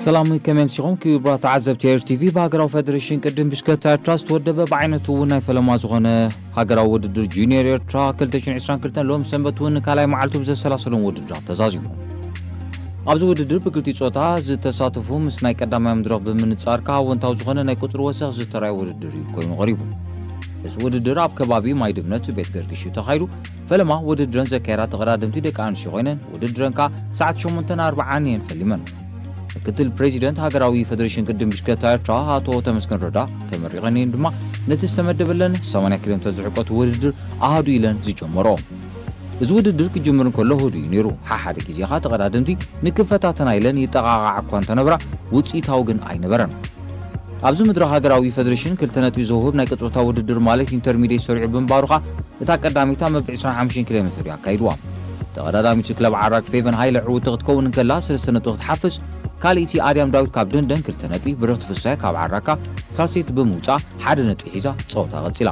ሰላም፣ ከመይ ኣምሲኹም ክቡራት ተዓዘብቲ ኤር ቲቪ? ብሃገራዊ ፌደሬሽን ቅድም ብሽክለታ ኤርትራ ዝተወደበ፣ ብዓይነቱ እውን ናይ ፈለማ ዝኾነ ሃገራዊ ውድድር ጁኒየር ኤርትራ ክልተ ሽሕን ዕስራን ክልተን ሎም ሰንበት እውን ካልኣይ መዓልቱ ብዘሰላሰሎም ውድድራት ተዛዚሙ። ኣብዚ ውድድር ብክልቲኡ ጾታ ዝተሳተፉ ምስ ናይ ቀዳማይ መድረኽ ብምንጻር ከኣ ኣወንታዊ ዝኾነ ናይ ቁጽሪ ወሰኽ ዝተራየ ውድድር እዩ ኮይኑ ቀሪቡ። እዚ ውድድር ኣብ ከባቢ ማይ ድምነት ቤት ገርግሽ እዩ ተኻይዱ። ፈለማ ውድድረን ዘካየዳ ተቐዳደምቲ ደቂ ኣንስትዮ ኮይነን፣ ውድድረን ከኣ ሰዓት ሸሞንተን ኣርባዓን እየን ፈሊመን። ምክትል ፕሬዚደንት ሃገራዊ ፌደሬሽን ቅድም ብሽክለታ ኤርትራ ኣቶ ተመስገን ረዳ ተመሪቐን እየን ድማ ነቲ ዝተመደበለን ሰማንያ ኪሎ ሜትር ዝሕቆት ውድድር ኣሃዱ ኢለን ዝጀመሮ። እዚ ውድድር ክጅምር እንከሎ ህዱእ እዩ ነይሩ። ሓሓደ ግዜ ኸኣ ተቐዳደምቲ ንክፈታተና ኢለን ይጠቓቓዓ እኳ እንተነበራ፣ ውጽኢታዊ ግን ኣይነበረን። ኣብዚ መድረኽ ሃገራዊ ፌደሬሽን ክልተ ነጥቢ ዘውህብ ናይ ቅጽበታዊ ውድድር ማለት ኢንተርሚድየት ሰሪዑ ብምንባሩ ኸኣ እታ ቀዳሚታ መበል ዕስራን ሓሙሽተን ኪሎ ሜትር እዩ ኣካይድዋ። ተቐዳዳሚት ክለብ ዓራግ ፌቨን ሃይለ ዕውቲ ክትከውን እንከላ ሰለስተ ነጥቢ ክትሓፍስ፣ ካልኣይቲ ኣድያም ዳዊት ካብ ደንደን ክልተ ነጥቢ፣ ብርኽቲ ፍሳይ ካብ ዓራካ ሳልሰይቲ ብምውጻእ ሓደ ነጥቢ ሒዛ ጸወታ ቀጺላ።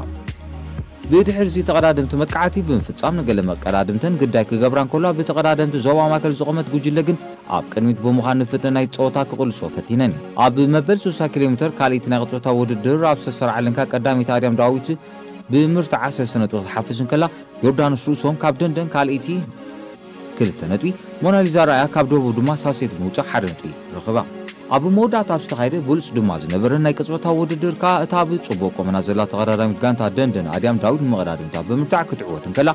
ብድሕሪ እዚ ተቐዳደምቲ መጥቃዕቲ ብምፍጻም ንገለ መቀዳድምተን ግዳይ ክገብራ እንከላ፣ ብተቐዳደምቲ ዞባ ማእከል ዝቖመት ጉጅለ ግን ኣብ ቅድሚት ብምዃን ንፍጥነት ናይቲ ጸወታ ክቕልሶ ፈቲነን። ኣብ መበል ስሳ ኪሎ ሜትር ካልኣይቲ ናይ ቅጽበታዊ ውድድር ኣብ ዝተሰርዓ ልንካ ቀዳመይቲ ኣድያም ዳዊት ብምርትዓ ሰለስተ ነጥቢ ክትሓፍስ እንከላ፣ ዮርዳኖስ ርእሶም ካብ ደንደን ካልኣይቲ ክልተ ነጥቢ፣ ሞናሊዛ ራእያ ካብ ደቡብ ድማ ሳልሰይቲ ብምውጻእ ሓደ ነጥቢ ረኺባ። ኣብ መወዳእታ ኣብ ዝተኻየደ ብሉጽ ድማ ዝነበረ ናይ ቅጽበታዊ ውድድር ከኣ እታ ብጽቡቕ ቁመና ዘላ ተቐዳዳሚት ጋንታ ደንደን ኣድያም ዳዊት ንመቐዳድምታ ብምርታዕ ክትዕወት እንከላ፣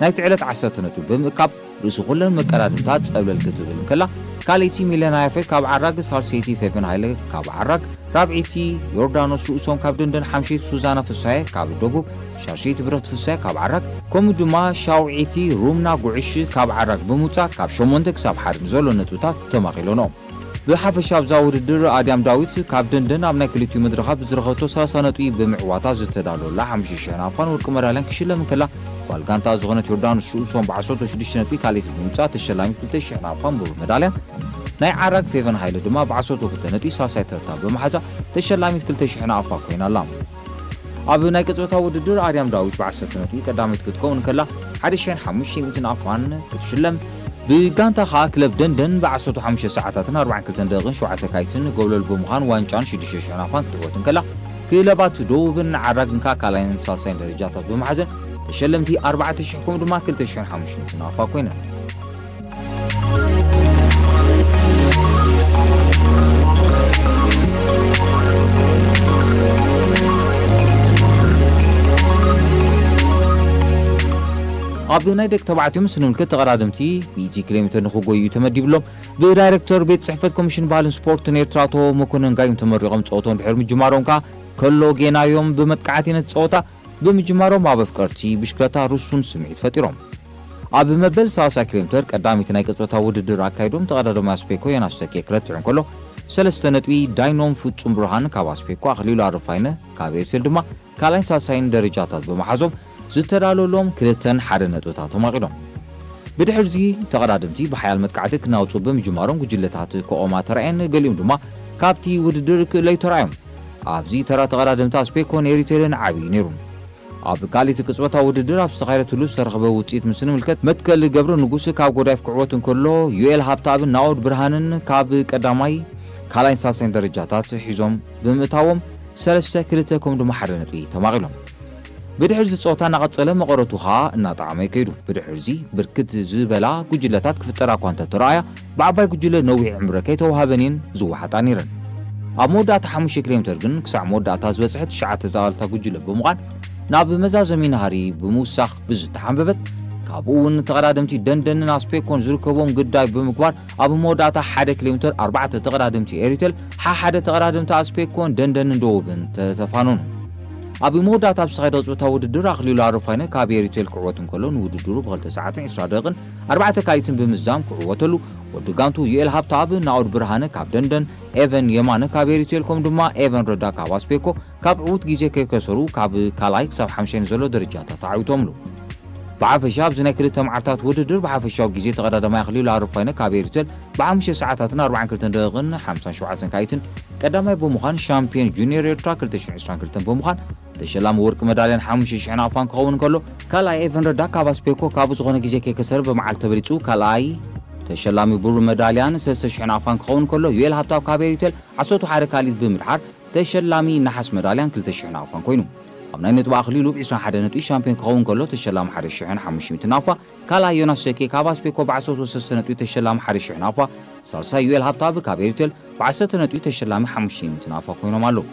ናይቲ ዕለት ዓሰርተ ነጥቢ ብምእካብ ርእሲ ኩለን መቀዳድምታ ጸብለል ክትብል እንከላ፣ ካልኣይቲ ሚለና ያፌት ካብ ዓራግ፣ ሳልሰይቲ ፌቨን ሃይለ ካብ ዓራግ፣ ራብዐይቲ ዮርዳኖስ ርእሶም ካብ ደንደን፣ ሓምሸይቲ ሱዛና ፍሳየ ካብ ደቡብ፣ ሻሸይቲ ብረኽቲ ፍሳየ ካብ ዓራግ፣ ከምኡ ድማ ሻውዐይቲ ሩምና ጉዕሽ ካብ ዓራግ ብምውጻእ ካብ ሸሞንተ ክሳብ ሓደ ንዘሎ ነጥብታት ተማቒሎኖ። ብሓፈሻ ኣብዛ ውድድር ኣድያም ዳዊት ካብ ደንደን ኣብ ናይ ክልቲኡ መድረኻት ብዝረኸብቶ ሰላሳ ነጥቢ ብምዕዋታ ዝተዳለወላ ሓሙሽተ ሽሕ ናቕፋን ወርቂ መዳልያን ክሽለም እንከላ፣ ጓል ጋንታ ዝኾነት ዮርዳኖስ ርእሶም ብዓሰርተ ሽዱሽተ ነጥቢ ካልኣይቲ ብምውጻእ ተሸላሚት ክልተ ሽሕ ናቕፋን ብሩር መዳልያን፣ ናይ ዓራግ ፌቨን ሃይለ ድማ ብዓሰርተ ክልተ ነጥቢ ሳልሳይ ተርታ ብምሓዛ ተሸላሚት ክልተ ሽሕ ናቕፋ ኮይና ኣላ። ኣብ ናይ ቅጽበታዊ ውድድር ኣድያም ዳዊት ብዓሰርተ ነጥቢ ቀዳመይቲ ክትከውን እንከላ፣ ሓደ ሽሕን ሓሙሽተ ሚእትን ኣፋን ክትሽለም፣ ብጋንታ ኸኣ ክለብ ደንደን ብዓሰርተ ሓሙሽተ ሰዓታትን ኣርባዓን ክልተን ደቂቕን ሸውዓተ ካይትን ጎብለል ብምዃን ዋንጫን ሽዱሽተ ሽሕን ኣፋን ክትዕወት እንከላ፣ ክለባት ደቡብን ዓራግን ከኣ ካልኣይን ሳልሳይን ደረጃታት ብምሓዘን ተሸለምቲ ኣርባዕተ ሽሕ ከምኡ ድማ ክልተ ሽሕን ሓሙሽተ ሚእትን ኣፋ ኮይነን። ኣብ ናይ ደቂ ተባዕትዮ ምስ ንምልከት፣ ተቐዳደምቲ ሚእቲ ኪሎ ሜትር ንኽጎዩ ተመዲብሎም ብዳይሬክተር ቤት ጽሕፈት ኮሚሽን ባህልን ስፖርትን ኤርትራ ኣቶ መኮነን ጋይም ተመሪቖም፣ ጸወቶም ድሕሪ ምጅማሮም ከኣ ከሎ ጌናዮም ብመጥቃዕቲ ነቲ ጸወታ ብምጅማሮም ኣብ ኣፍቀርቲ ብሽክለታ ርሱን ስምዒት ፈጢሮም። ኣብ መበል ሰላሳ ኪሎ ሜትር ቀዳሚት ናይ ቅጽበታዊ ውድድር ኣካይዶም ተቐዳዳማይ ኣስፔኮ ዮናስ ተኬ ክረትዕ እንከሎ፣ ሰለስተ ነጥቢ ዳይኖም ፍጹም ብርሃን ካብ ኣስፔኮ፣ ኣኽሊሉ ኣረፋይነ ካብ ኤርሴል ድማ ካልኣይን ሳልሳይን ደረጃታት ብምሓዞም ዝተዳለወሎም ክልተን ሓደ ነጥብታት ተማቒሎም። ብድሕርዚ ተቐዳደምቲ ብሓያል መጥቃዕቲ ክናውጹ ብምጅማሮም ጉጅለታት ክቖማ ተራእየን፣ ገሊኦም ድማ ካብቲ ውድድር ክእለዩ ተራእዮም። ኣብዚ ተራ ተቐዳደምቲ ኣስፔኮን ኤሪቴልን ዓቢ እዩ ነይሩ። ኣብ ካልኣይቲ ቅጽበታዊ ውድድር ኣብ ዝተኻየደትሉ ዝተረኽበ ውጽኢት ምስ ንምልከት፣ መትከል ገብረ ንጉስ ካብ ጎዳይፍ ክዕወት እንከሎ፣ ዩኤል ሃብተኣብን ናኦድ ብርሃንን ካብ ቀዳማይ፣ ካልኣይን ሳልሳይን ደረጃታት ሒዞም ብምእታዎም፣ ሰለስተ ክልተ ከምኡ ድማ ሓደ ነጥቢ ተማቒሎም። ብድሕርዚ ጸወታ እናቐጸለ፣ መቐረቱ ኸኣ እናጠዓመ ከይዱ። ብድሕርዚ ብርክት ዝበላ ጉጅለታት ክፍጠራ እኳ እንተተራእያ፣ ብዓባይ ጉጅለ ነዊሕ ዕምረ ከይተዋህበን እየን ዝወሓጣ ነይረን። ኣብ መወዳእታ ሓሙሽተ ኪሎ ሜትር ግን ክሳዕ መወዳእታ ዝበጽሐ ትሽዓተ ዝኣለታ ጉጅለ ብምዃን ናብ መዛዘሚ ናህሪ ብምውሳኽ ብዝተሓንበበት፣ ካብኡ እውን ተቐዳደምቲ ደንደንን ኣስፔኮን ዝርከቦም ግዳይ ብምግባር ኣብ መወዳእታ ሓደ ኪሎ ሜትር ኣርባዕተ ተቐዳደምቲ ኤሪቴል፣ ሓሓደ ተቐዳደምቲ ኣስፔኮን ደንደንን ደቡብን ተተፋነኑ። ኣብ መወዳእታ ኣብ ዝተኻየደ ቅጽበታዊ ውድድር ኣኽሊሉ ኣረፋይነ ካብ ኤሪቴል ክዕወት እንከሎ፣ ንውድድሩ ብኽልተ ሰዓትን ዕስራ ደቂቕን ኣርባዕተ ካልኢትን ብምዝዛም ክዕወተሉ፣ ወዲ ጋንቱ ዩኤል ሃብተኣብ፣ ናኦድ ብርሃነ ካብ ደንደን፣ ኤቨን የማነ ካብ ኤሪቴል፣ ከምኡ ድማ ኤቨን ረዳ ካብ ኣስፔኮ ካብ ዕዉት ግዜ ከይከሰሩ ካብ ካልኣይ ክሳብ ሓምሻይ ንዘሎ ደረጃታት ኣዕዊቶምሉ። ብሓፈሻ ኣብዚ ናይ ክልተ መዓልታት ውድድር ብሓፈሻዊ ግዜ ተቐዳዳማይ ኣኽሊሉ ኣረፋይነ ካብ ኤሪቴል ብሓሙሽተ ሰዓታትን ኣርባዓን ክልተን ደቂቕን ሓምሳን ሸውዓተን ካይትን ቀዳማይ ብምዃን ሻምፒዮን ጁኒየር ኤርትራ ክልተ ሽሕን ዕስራን ክልተን ብምዃን ተሸላሚ ወርቂ መዳልያን ሓሙሽተ ሽሕን ኣፋን ክኸውን እንከሎ፣ ካልኣይ ኤቨን ረዳ ካብ ኣስፔኮ ካብኡ ዝኾነ ግዜ ከይከሰረ ብመዓልቲ ተበሊጹ ካልኣይ፣ ተሸላሚ ብሩር መዳልያን ሰለስተ ሽሕን ኣፋን ክኸውን ከሎ፣ ዩኤል ሃብታብ ካብ ኤሪቴል ዓሰርተ ሓደ ካልኢት ብምድሓር ተሸላሚ ነሓስ መዳልያን ክልተ ሽሕን ኣፋን ኮይኑ። ኣብ ናይ ነጥቢ ኣኽሊሉ ብ ዕስራን ሓደን ነጥቢ ሻምፒዮን ክኸውን ከሎ፣ ተሸላሚ ሓደ ሽሕን ሓሙሽተ ሚእትን ኣፋ፣ ካልኣይ ዮናስ ሸኬ ካብ ኣስፔኮ ብ ዓሰርተ ሰለስተ ነጥቢ ተሸላሚ ሓደ ሽሕን ኣፋ፣ ሳልሳይ ዩኤል ሃብታብ ካብ ኤሪቴል ብ ዓሰርተ ነጥቢ ተሸላሚ ሓሙሽተ ሚእትን ኣፋ ኮይኖም ኣለዉ።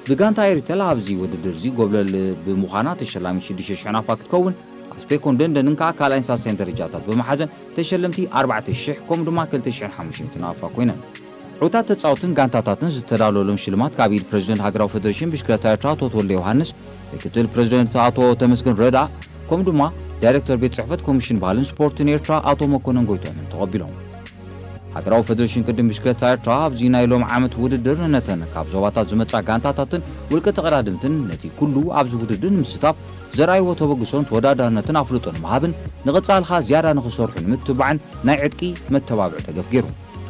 ብጋንታ ኤሪቴል ኣብዚ ውድድር እዚ ጎብለል ብምዃና ተሸላሚ ሽዱሽተ ሽሕን ኣፋ ክትከውን፣ ኣስፔኮን ደንደንን ከኣ ካልኣይን ሳልሳይን ደረጃታት ብምሓዘን ተሸለምቲ ኣርባዕተ ሽሕ ከምኡ ድማ ክልተ ሽሕን ሓሙሽተ ሚእትን ኣፋ ኮይነን። ዕዉታት ተጻወትን ጋንታታትን ዝተዳለወሎም ሽልማት ካብ ኢድ ፕረዚደንት ሃገራዊ ፈደሬሽን ብሽክለታ ኤርትራ ኣቶ ተወልደ ዮሃንስ፣ ምክትል ፕረዚደንት ኣቶ ተመስገን ረዳ፣ ከምኡ ድማ ዳይሬክተር ቤት ጽሕፈት ኮሚሽን ባህልን ስፖርትን ኤርትራ ኣቶ መኮነን ጎይቶምን ተቐቢሎም። ሃገራዊ ፈደሬሽን ቅድም ብሽክለታ ኤርትራ ኣብዚ ናይ ሎም ዓመት ውድድር ነተን ካብ ዞባታት ዝመጻ ጋንታታትን ውልቀ ተቐዳድምትን ነቲ ኩሉ ኣብዚ ውድድር ንምስታፍ ዘርኣይዎ ተበግሶን ተወዳዳርነትን ኣፍልጦ ንምሃብን ንቐጻልኻ ዝያዳ ንኽሰርሑ ንምትባዕን ናይ ዕጥቂ መተባብዒ ደገፍ ገይሩ።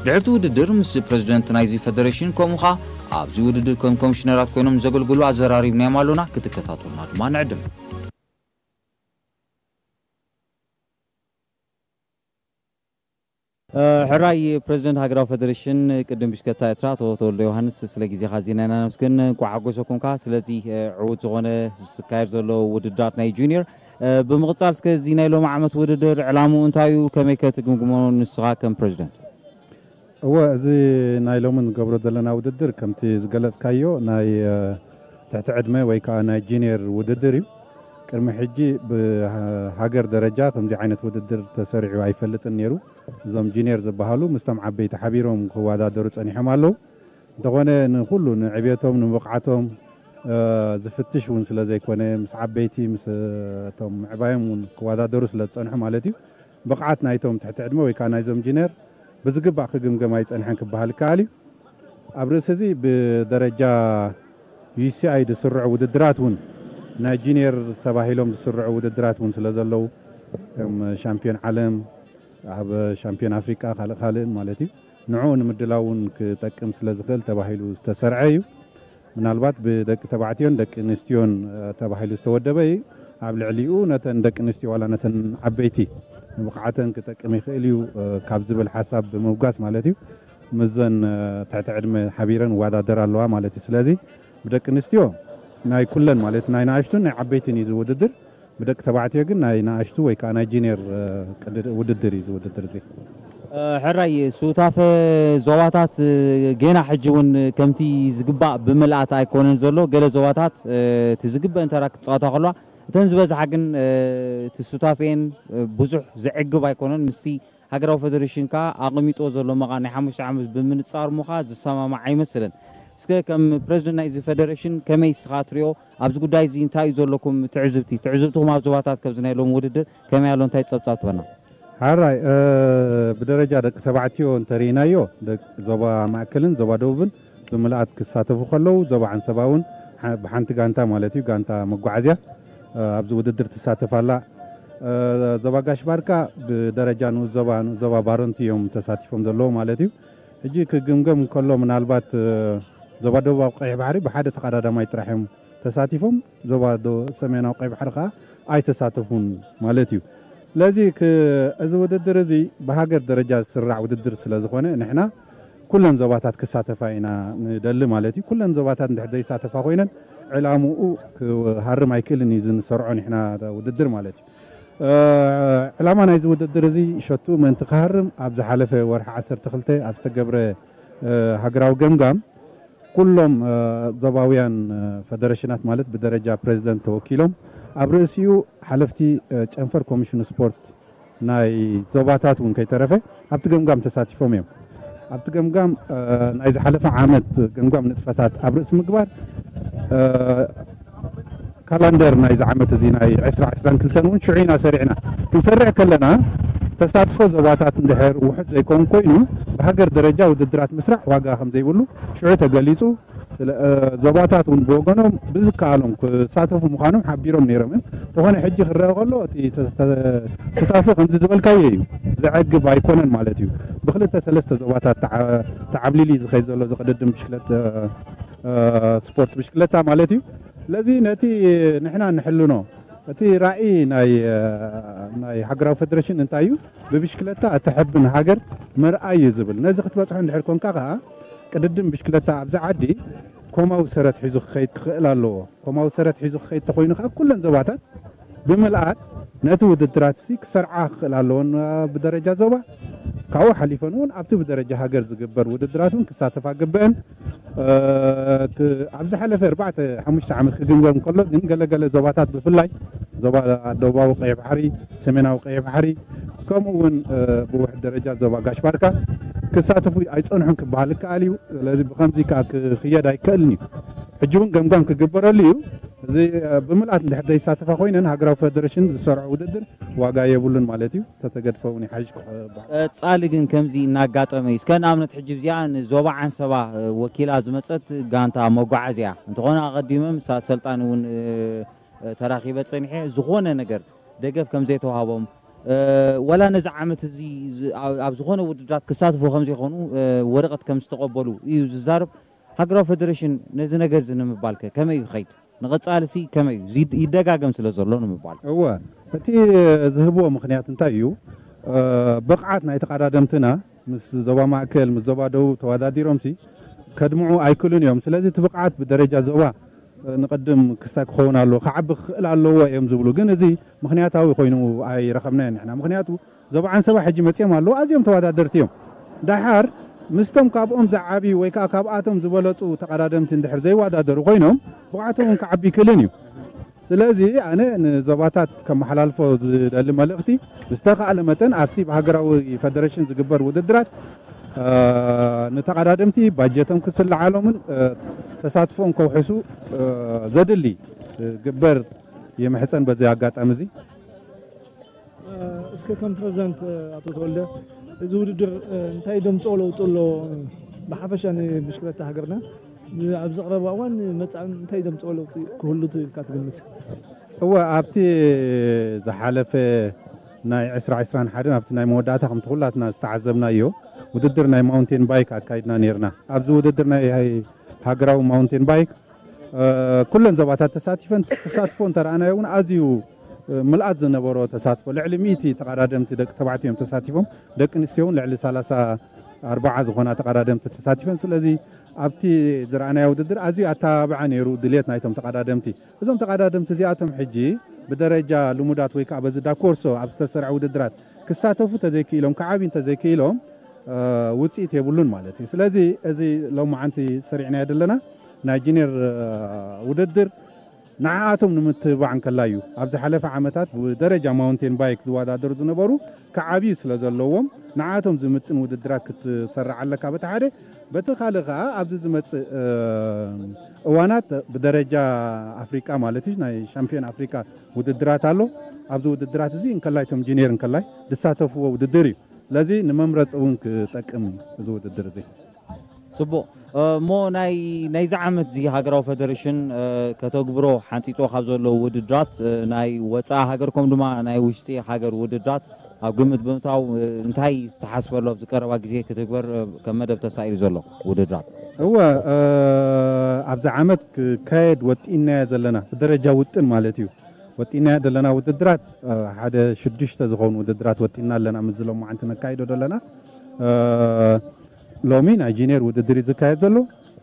ድሕርቲ ውድድር ምስ ፕረዚደንት ናይዚ ፈደሬሽን ከምኡ ኸኣ ኣብዚ ውድድር ከም ኮሚሽነራት ኮይኖም ዘገልግሉ ኣዘራሪብናዮም ኣሎና፣ ክትከታተሉና ድማ ንዕድም። ሕራይ ፕረዚደንት ሃገራዊ ፈደሬሽን ቅድም ብሽክለታ ኤርትራ ኣቶ ተወልደ ዮሃንስ፣ ስለ ግዜኻ ኣዚና ኢና ነመስግን። እንቋዕ ሓጎሰኩም ከኣ ስለዚ ዕዉት ዝኾነ ዝካየድ ዘሎ ውድድራት ናይ ጁኒየር። ብምቕጻል እስከ እዚ ናይ ሎሚ ዓመት ውድድር ዕላምኡ እንታይ እዩ? ከመይ ከ ትግምግሞ ንስኻ ከም ፕረዚደንት? እወ፣ እዚ ናይ ሎሚ ንገብሮ ዘለና ውድድር ከምቲ ዝገለጽካዮ ናይ ትሕቲ ዕድመ ወይ ከኣ ናይ ጁኒየር ውድድር እዩ። ቅድሚ ሕጂ ብሃገር ደረጃ ከምዚ ዓይነት ውድድር ተሰሪዑ ኣይፈልጥን ነይሩ። እዞም ጁኒየር ዝበሃሉ ምስቶም ዓበይቲ ሓቢሮም ክወዳደሩ ጸኒሖም ኣለዉ። እንተኾነ ንኹሉ ንዕብየቶም ንብቕዓቶም ዝፍትሽ እውን ስለ ዘይኮነ፣ ምስ ዓበይቲ ምስ እቶም ምዕባዮም እውን ክወዳደሩ ስለ ዝጸንሑ ማለት እዩ። ብቕዓት ናይቶም ትሕቲ ዕድመ ወይ ከኣ ናይዞም ጁኒየር ብዝግባእ ክግምገም ኣይጸንሐን ክበሃል ይከኣል እዩ። ኣብ ርእሲ እዚ ብደረጃ ዩ ሲ ኣይ ዝስርዑ ውድድራት እውን ናይ ጁኒየር ተባሂሎም ዝስርዑ ውድድራት እውን ስለ ዘለዉ፣ ከም ሻምፒዮን ዓለም፣ ኣብ ሻምፒዮን ኣፍሪቃ ካልእ ካልእን ማለት እዩ፣ ንዕኡ ንምድላው እውን ክጠቅም ስለ ዝኽእል ተባሂሉ ዝተሰርዐ እዩ። ምናልባት ብደቂ ተባዕትዮን ደቂ ኣንስትዮን ተባሂሉ ዝተወደበ እዩ። ኣብ ልዕሊኡ ነተን ደቂ ኣንስትዮ ዋላ ነተን ዓበይቲ ንብቕዓተን ክጠቅም ይኽእል እዩ ካብ ዝብል ሓሳብ ብምብጋስ ማለት እዩ፣ ምስዘን ትሕቲ ዕድመ ሓቢረን ይወዳደራ ኣለዋ ማለት እዩ። ስለዚ ብደቂ ኣንስትዮ ናይ ኩለን ማለት ናይ ንኣሽቱን ናይ ዓበይትን እዩ ዝውድድር። ብደቂ ተባዕትዮ ግን ናይ ንኣሽቱ ወይ ከዓ ናይ ጁኒየር ውድድር እዩ ዝውድድር እዚ። ሕራይ ሱታፈ ዞባታት ጌና ሕጂ እውን ከምቲ ዝግባእ ብምልኣት ኣይኮነን ዘሎ። ገለ ዞባታት እቲ ዝግበእን ተራ ክፃወታ ከለዋ፣ እተን ዝበዝሓ ግን እቲ ሱታፌን ብዙሕ ዘዕግብ ኣይኮነን። ምስቲ ሃገራዊ ፈደሬሽን ከኣ ኣቐሚጥዎ ዘሎ መቓን ናይ ሓሙሽተ ዓመት ብምንጻር እሞ ከኣ ዝሰማማዕ ኣይመስልን። እስከ ከም ፕረዚደንት ናይዚ ፈደሬሽን ከመይ እስኻ ትሪኦ? ኣብዚ ጉዳይ እዚ እንታይ እዩ ዘለኩም ትዕዝብቲ? ትዕዝብትኹም ኣብ ዞባታት ከምዚ ናይ ሎሚ ውድድር ከመይ ኣሎ? እንታይ ጸብጻብ ትበና? ሓራይ ብደረጃ ደቂ ተባዕትዮ እንተርኢናዮ፣ ዞባ ማእከልን ዞባ ደቡብን ብምልኣት ክሳተፉ ከለዉ፣ ዞባ ዓንሰባ እውን ብሓንቲ ጋንታ ማለት እዩ፣ ጋንታ መጓዓዝያ ኣብዚ ውድድር ትሳተፍ ኣላ። ዞባ ጋሽ ባርካ ብደረጃ ንኡስ ዞባ፣ ንኡስ ዞባ ባረንቱ እዮም ተሳቲፎም ዘለዉ ማለት እዩ። ሕጂ ክግምገም እንከሎ ምናልባት ዞባ ደቡባዊ ቀይሕ ባሕሪ ብሓደ ተቐዳዳማይ ጥራሕ እዮም ተሳቲፎም፣ ዞባ ሰሜናዊ ቀይሕ ባሕሪ ከኣ ኣይተሳተፉን ማለት እዩ። ስለዚ እዚ ውድድር እዚ ብሃገር ደረጃ ዝስራዕ ውድድር ስለ ዝኾነ ንሕና ኩለን ዞባታት ክሳተፋ ኢና ንደሊ ማለት እዩ። ኩለን ዞባታት እንድሕር ዘይሳተፋ ኮይነን ዕላምኡ ክሃርም ኣይክእልን እዩ፣ ዝንሰርዖ ንሕና ውድድር ማለት እዩ። ዕላማ ናይዚ ውድድር እዚ ሸቱ ምእንቲ ክሃርም ኣብ ዝሓለፈ ወርሒ ዓሰርተ ክልተ ኣብ ዝተገብረ ሃገራዊ ገምጋም ኩሎም ዞባውያን ፈደረሽናት ማለት ብደረጃ ፕረዚደንት ተወኪሎም ኣብ ርእሲኡ ሓለፍቲ ጨንፈር ኮሚሽን ስፖርት ናይ ዞባታት እውን ከይተረፈ ኣብቲ ገምጋም ተሳቲፎም እዮም። ኣብቲ ገምጋም ናይ ዝሓለፈ ዓመት ገምጋም ንጥፈታት ኣብ ርእሲ ምግባር ካላንደር ናይዚ ዓመት እዚ ናይ ዕስራ ዕስራን ክልተን እውን ሽዑ ኢና ሰሪዕና። ክንሰርዕ ከለና ተሳትፎ ዞባታት እንድሕር ውሑድ ዘይከውን ኮይኑ፣ ብሃገር ደረጃ ውድድራት ምስራሕ ዋጋ ከም ዘይብሉ ሽዑ ተገሊጹ። ስለ እ፣ ዞባታት እውን ብወገኖም ብዝከኣሎም ክሳተፉ ምዃኖም ሓቢሮም ነይሮም እዮም። እንተኾነ ሕጂ ክረአ ከሎ እቲ ተ- ተ- ሱታፌ ከምዚ ዝበልካዮ እዩ፣ ዘዕግብ ኣይኮነን ማለት እዩ። ብክልተ ሰለስተ ዞባታት ተዓ- ተዓብሊሉ እዩ ዝኸይድ ዘሎ ዝቕድድም ብሽክለት እ፣ እ፣ ስፖርት ብሽክለታ ማለት እዩ። ስለዚ ነቲ ንሕና ንሕልኖ እቲ ራእይ ናይ እ፣ ናይ ሃገራዊ ፌደሬሽን እንታይ እዩ? ብብሽክለታ እትሕብን ሃገር ምርኣይ እዩ ዝብል። ነዚ ክትበጽሖ እንድሕር ኮንካ ከኣ ቅድድም ብሽክለታ ኣብዚ ዓዲ ኮማዊ ሰረት ሒዙ ክኸይድ ክኽእል ኣለዎ። ኮማዊ ሰረት ሒዙ ክኸይድ ተኾይኑ ከኣ ኩለን ዞባታት ብምልኣት ነቲ ውድድራት ሲ ክሰርዓ ክኽእል ኣለዎን ብደረጃ ዞባ ካብኡ ሓሊፈን እውን ኣብቲ ብደረጃ ሃገር ዝግበር ውድድራት እውን ክሳተፋ ግበአን። እ፣ ክ- ኣብ ዝሓለፈ ኣርባዕተ ሓሙሽተ ዓመት ክግምገም ከሎ ግን ገለገለ ዞባታት ብፍላይ ዞባ ደቡባዊ ቀይሕ ባሕሪ፣ ሰሜናዊ ቀይሕ ባሕሪ ከምኡ እውን እ፣ ብውሕድ ደረጃ ዞባ ጋሽ ባርካ ክሳተፉ ኣይጸንሑን ክበሃል ይከኣል እዩ። ስለዚ ብኸምዚ ከዓ ክኽየድ ኣይከእልን እዩ። ሕጂ እውን ገምጋም ክግበረሉ እዩ። እዚ እ፣ ብምልኣት እንድሕር ዘይሳተፋ ኮይነን ሃገራዊ ፌደሬሽን ዝሰርዖ ውድድር ዋጋ የብሉን ማለት እዩ። ተተገድፈ እውን ይሓይሽ ክበሃል። ቀጻሊ ግን ከምዚ እናጋጠመ እዩ። እስከ ንኣብነት ሕጂ እዚኣ ንዞባ ዓንሰባ እ፣ ወኪላ ዝመጸት ጋንታ መጓዓዝያ እንተኾነ ኣቐዲመ ምስ ኣሰልጣኒ እውን እ፣ እ፣ ተራኺበ ጸኒሐ ዝኾነ ነገር ደገፍ ከም ዘይተዋህቦም እ፣ ወላ ነዚ ዓመት እዚ ዝ- ኣብ ኣብ ዝኾነ ውድድራት ክሳትፉ ከም ዘይኮኑ እ፣ ወረቐት ከም ዝተቐበሉ እዩ ዝዛረብ። ሃገራዊ ፌደሬሽን ነዚ ነገር እዚ ንምባልከ ከመይ እዩ ክኸይድ? ንቐጻልሲ ከመይ እዩ? እዚ ይደጋገም ስለ ዘሎ ንምባል። እወ፣ እቲ ዝህብዎ ምኽንያት እንታይ እዩ? እ፣ ብቕዓት ናይ ተቐዳደምትና ምስ ዞባ ማእከል፣ ምስ ዞባ ደቡብ ተወዳዲሮምሲ ከድምዑ ኣይክእሉን እዮም። ስለዚ እቲ ብቕዓት ብደረጃ ዞባ እ፣ ንቐድም ክስታይ ክኸውን ኣለዎ፣ ክዓቢ ክኽእል ኣለዎ እዮም ዝብሉ። ግን እዚ ምኽንያታዊ ኮይኑ ኣይረኸብናዮ ንሕና። ምኽንያቱ ዞባ ዓንሰባ ሕጂ መጺኦም ኣለዉ፣ ኣዝዮም ተወዳደርቲ እዮም። ደሓር ምስቶም ካብኦም ዝዓብዩ ወይ ከዓ ካብኣቶም ዝበለጹ ተቐዳደምቲ እንድሕር ዘይወዳደሩ ኮይኖም ብቕዓቶም እውን ክዓቢ ይክእልን እዩ። ስለዚ ኣነ ንዞባታት ከመሓላልፎ ዝደሊ መልእኽቲ ብዝተኻእለ መጠን ኣብቲ ብሃገራዊ ፌደሬሽን ዝግበር ውድድራት እ፣ ንተቐዳደምቲ ባጀቶም ክስልዓሎምን እ፣ ተሳትፎኦም ከውሕሱ እ፣ ዘድሊ እ፣ ግበር ይምሕጸን በዚ ኣጋጣሚ እዚ። እስከ ከም ፕረዚደንት ኣቶ ተወልደ እዚ ውድድር እንታይ ደምፅኦ ለውጢ ኣሎ? ብሓፈሻ ንብሽክለታ ሃገርና ኣብዚ ቀረባ እዋን መፃእን እንታይ ደምፅኦ ለውጢ ክህሉ ኢልካ ትግምት? እወ ኣብቲ ዝሓለፈ ናይ ዕስራ ዕስራን ሓደን ኣብቲ ናይ መወዳእታ ከምቲ ኩላትና ዝተዓዘብናዮ ውድድር ናይ ማውንቴን ባይክ ኣካይድና ነርና። ኣብዚ ውድድር ናይ ሃገራዊ ማውንቴን ባይክ ኩለን ዞባታት ተሳቲፈን ተሳትፎ እንተረኣናዮ እውን ኣዝዩ ምልኣት ዝነበሮ ተሳትፎ ልዕሊ ሚእቲ ተቐዳደምቲ ደቂ ተባዕትዮ እዮም ተሳቲፎም፣ ደቂ ኣንስትዮ እውን ልዕሊ ሰላሳ ኣርባዓ ዝኾና ተቐዳደምቲ ተሳቲፈን። ስለዚ ኣብቲ ዝረኣናዮ ውድድር ኣዝዩ ኣተባብዓ ነይሩ ድልየት ናይቶም ተቐዳደምቲ። እዞም ተቐዳደምቲ እዚኣቶም ሕጂ ብደረጃ ልሙዳት ወይ ከዓ በዚ ዳኮርሶ ኣብ ዝተሰርዐ ውድድራት ክሳተፉ ተዘይክኢሎም ክዓብዩ እንተዘይክኢሎም ውፅኢት የብሉን ማለት እዩ። ስለዚ እዚ ሎማዓንቲ ሰሪዕናዮ ዘለና ናይ ጂኒየር ውድድር ንዓኣቶም ንምትብባዕ እንከላ እዩ። ኣብ ዝሓለፈ ዓመታት ብደረጃ ማውንቴን ባይክ ዝወዳደሩ ዝነበሩ ክዓብዩ ስለ ዘለዎም ንዓኣቶም ዝምጥን ውድድራት ክትሰርዕ ኣለካ በቲ ሓደ። በቲ ካልእ ከዓ ኣብዚ ዝመፅእ እዋናት ብደረጃ ኣፍሪቃ ማለት እዩ ናይ ሻምፒዮን ኣፍሪቃ ውድድራት ኣሎ። ኣብዚ ውድድራት እዚ እንከላይ እቶም ጂኒየር እንከላይ ዝሳተፍዎ ውድድር እዩ። ስለዚ ንመምረፂ እውን ክጠቅም እዚ ውድድር እዚ። ፅቡቕ እሞ ናይ ናይዚ ዓመት እዚ ሃገራዊ ፌደሬሽን ከተግብሮ ሓንፂፆ ካብ ዘለዉ ውድድራት ናይ ወፃኢ ሃገር ከም ድማ ናይ ውሽጢ ሃገር ውድድራት ኣብ ግምት ብምእታው እንታይ ዝተሓስበሉ ኣብዚ ቀረባ ግዜ ክትግበር ከም መደብ ተሳኢሉ ዘሎ ውድድራት? እወ ኣብዚ ዓመት ክካየድ ወጢእናዮ ዘለና ብደረጃ ውጥን ማለት እዩ። ወጢእናዮ ዘለና ውድድራት ሓደ ሽዱሽተ ዝኾኑ ውድድራት ወጢእና ኣለና። ምስ ሎማዓንቲ ነካይዶ ዘለና ሎሚ ናይ ጂኒየር ውድድር እዩ ዝካየድ ዘሎ።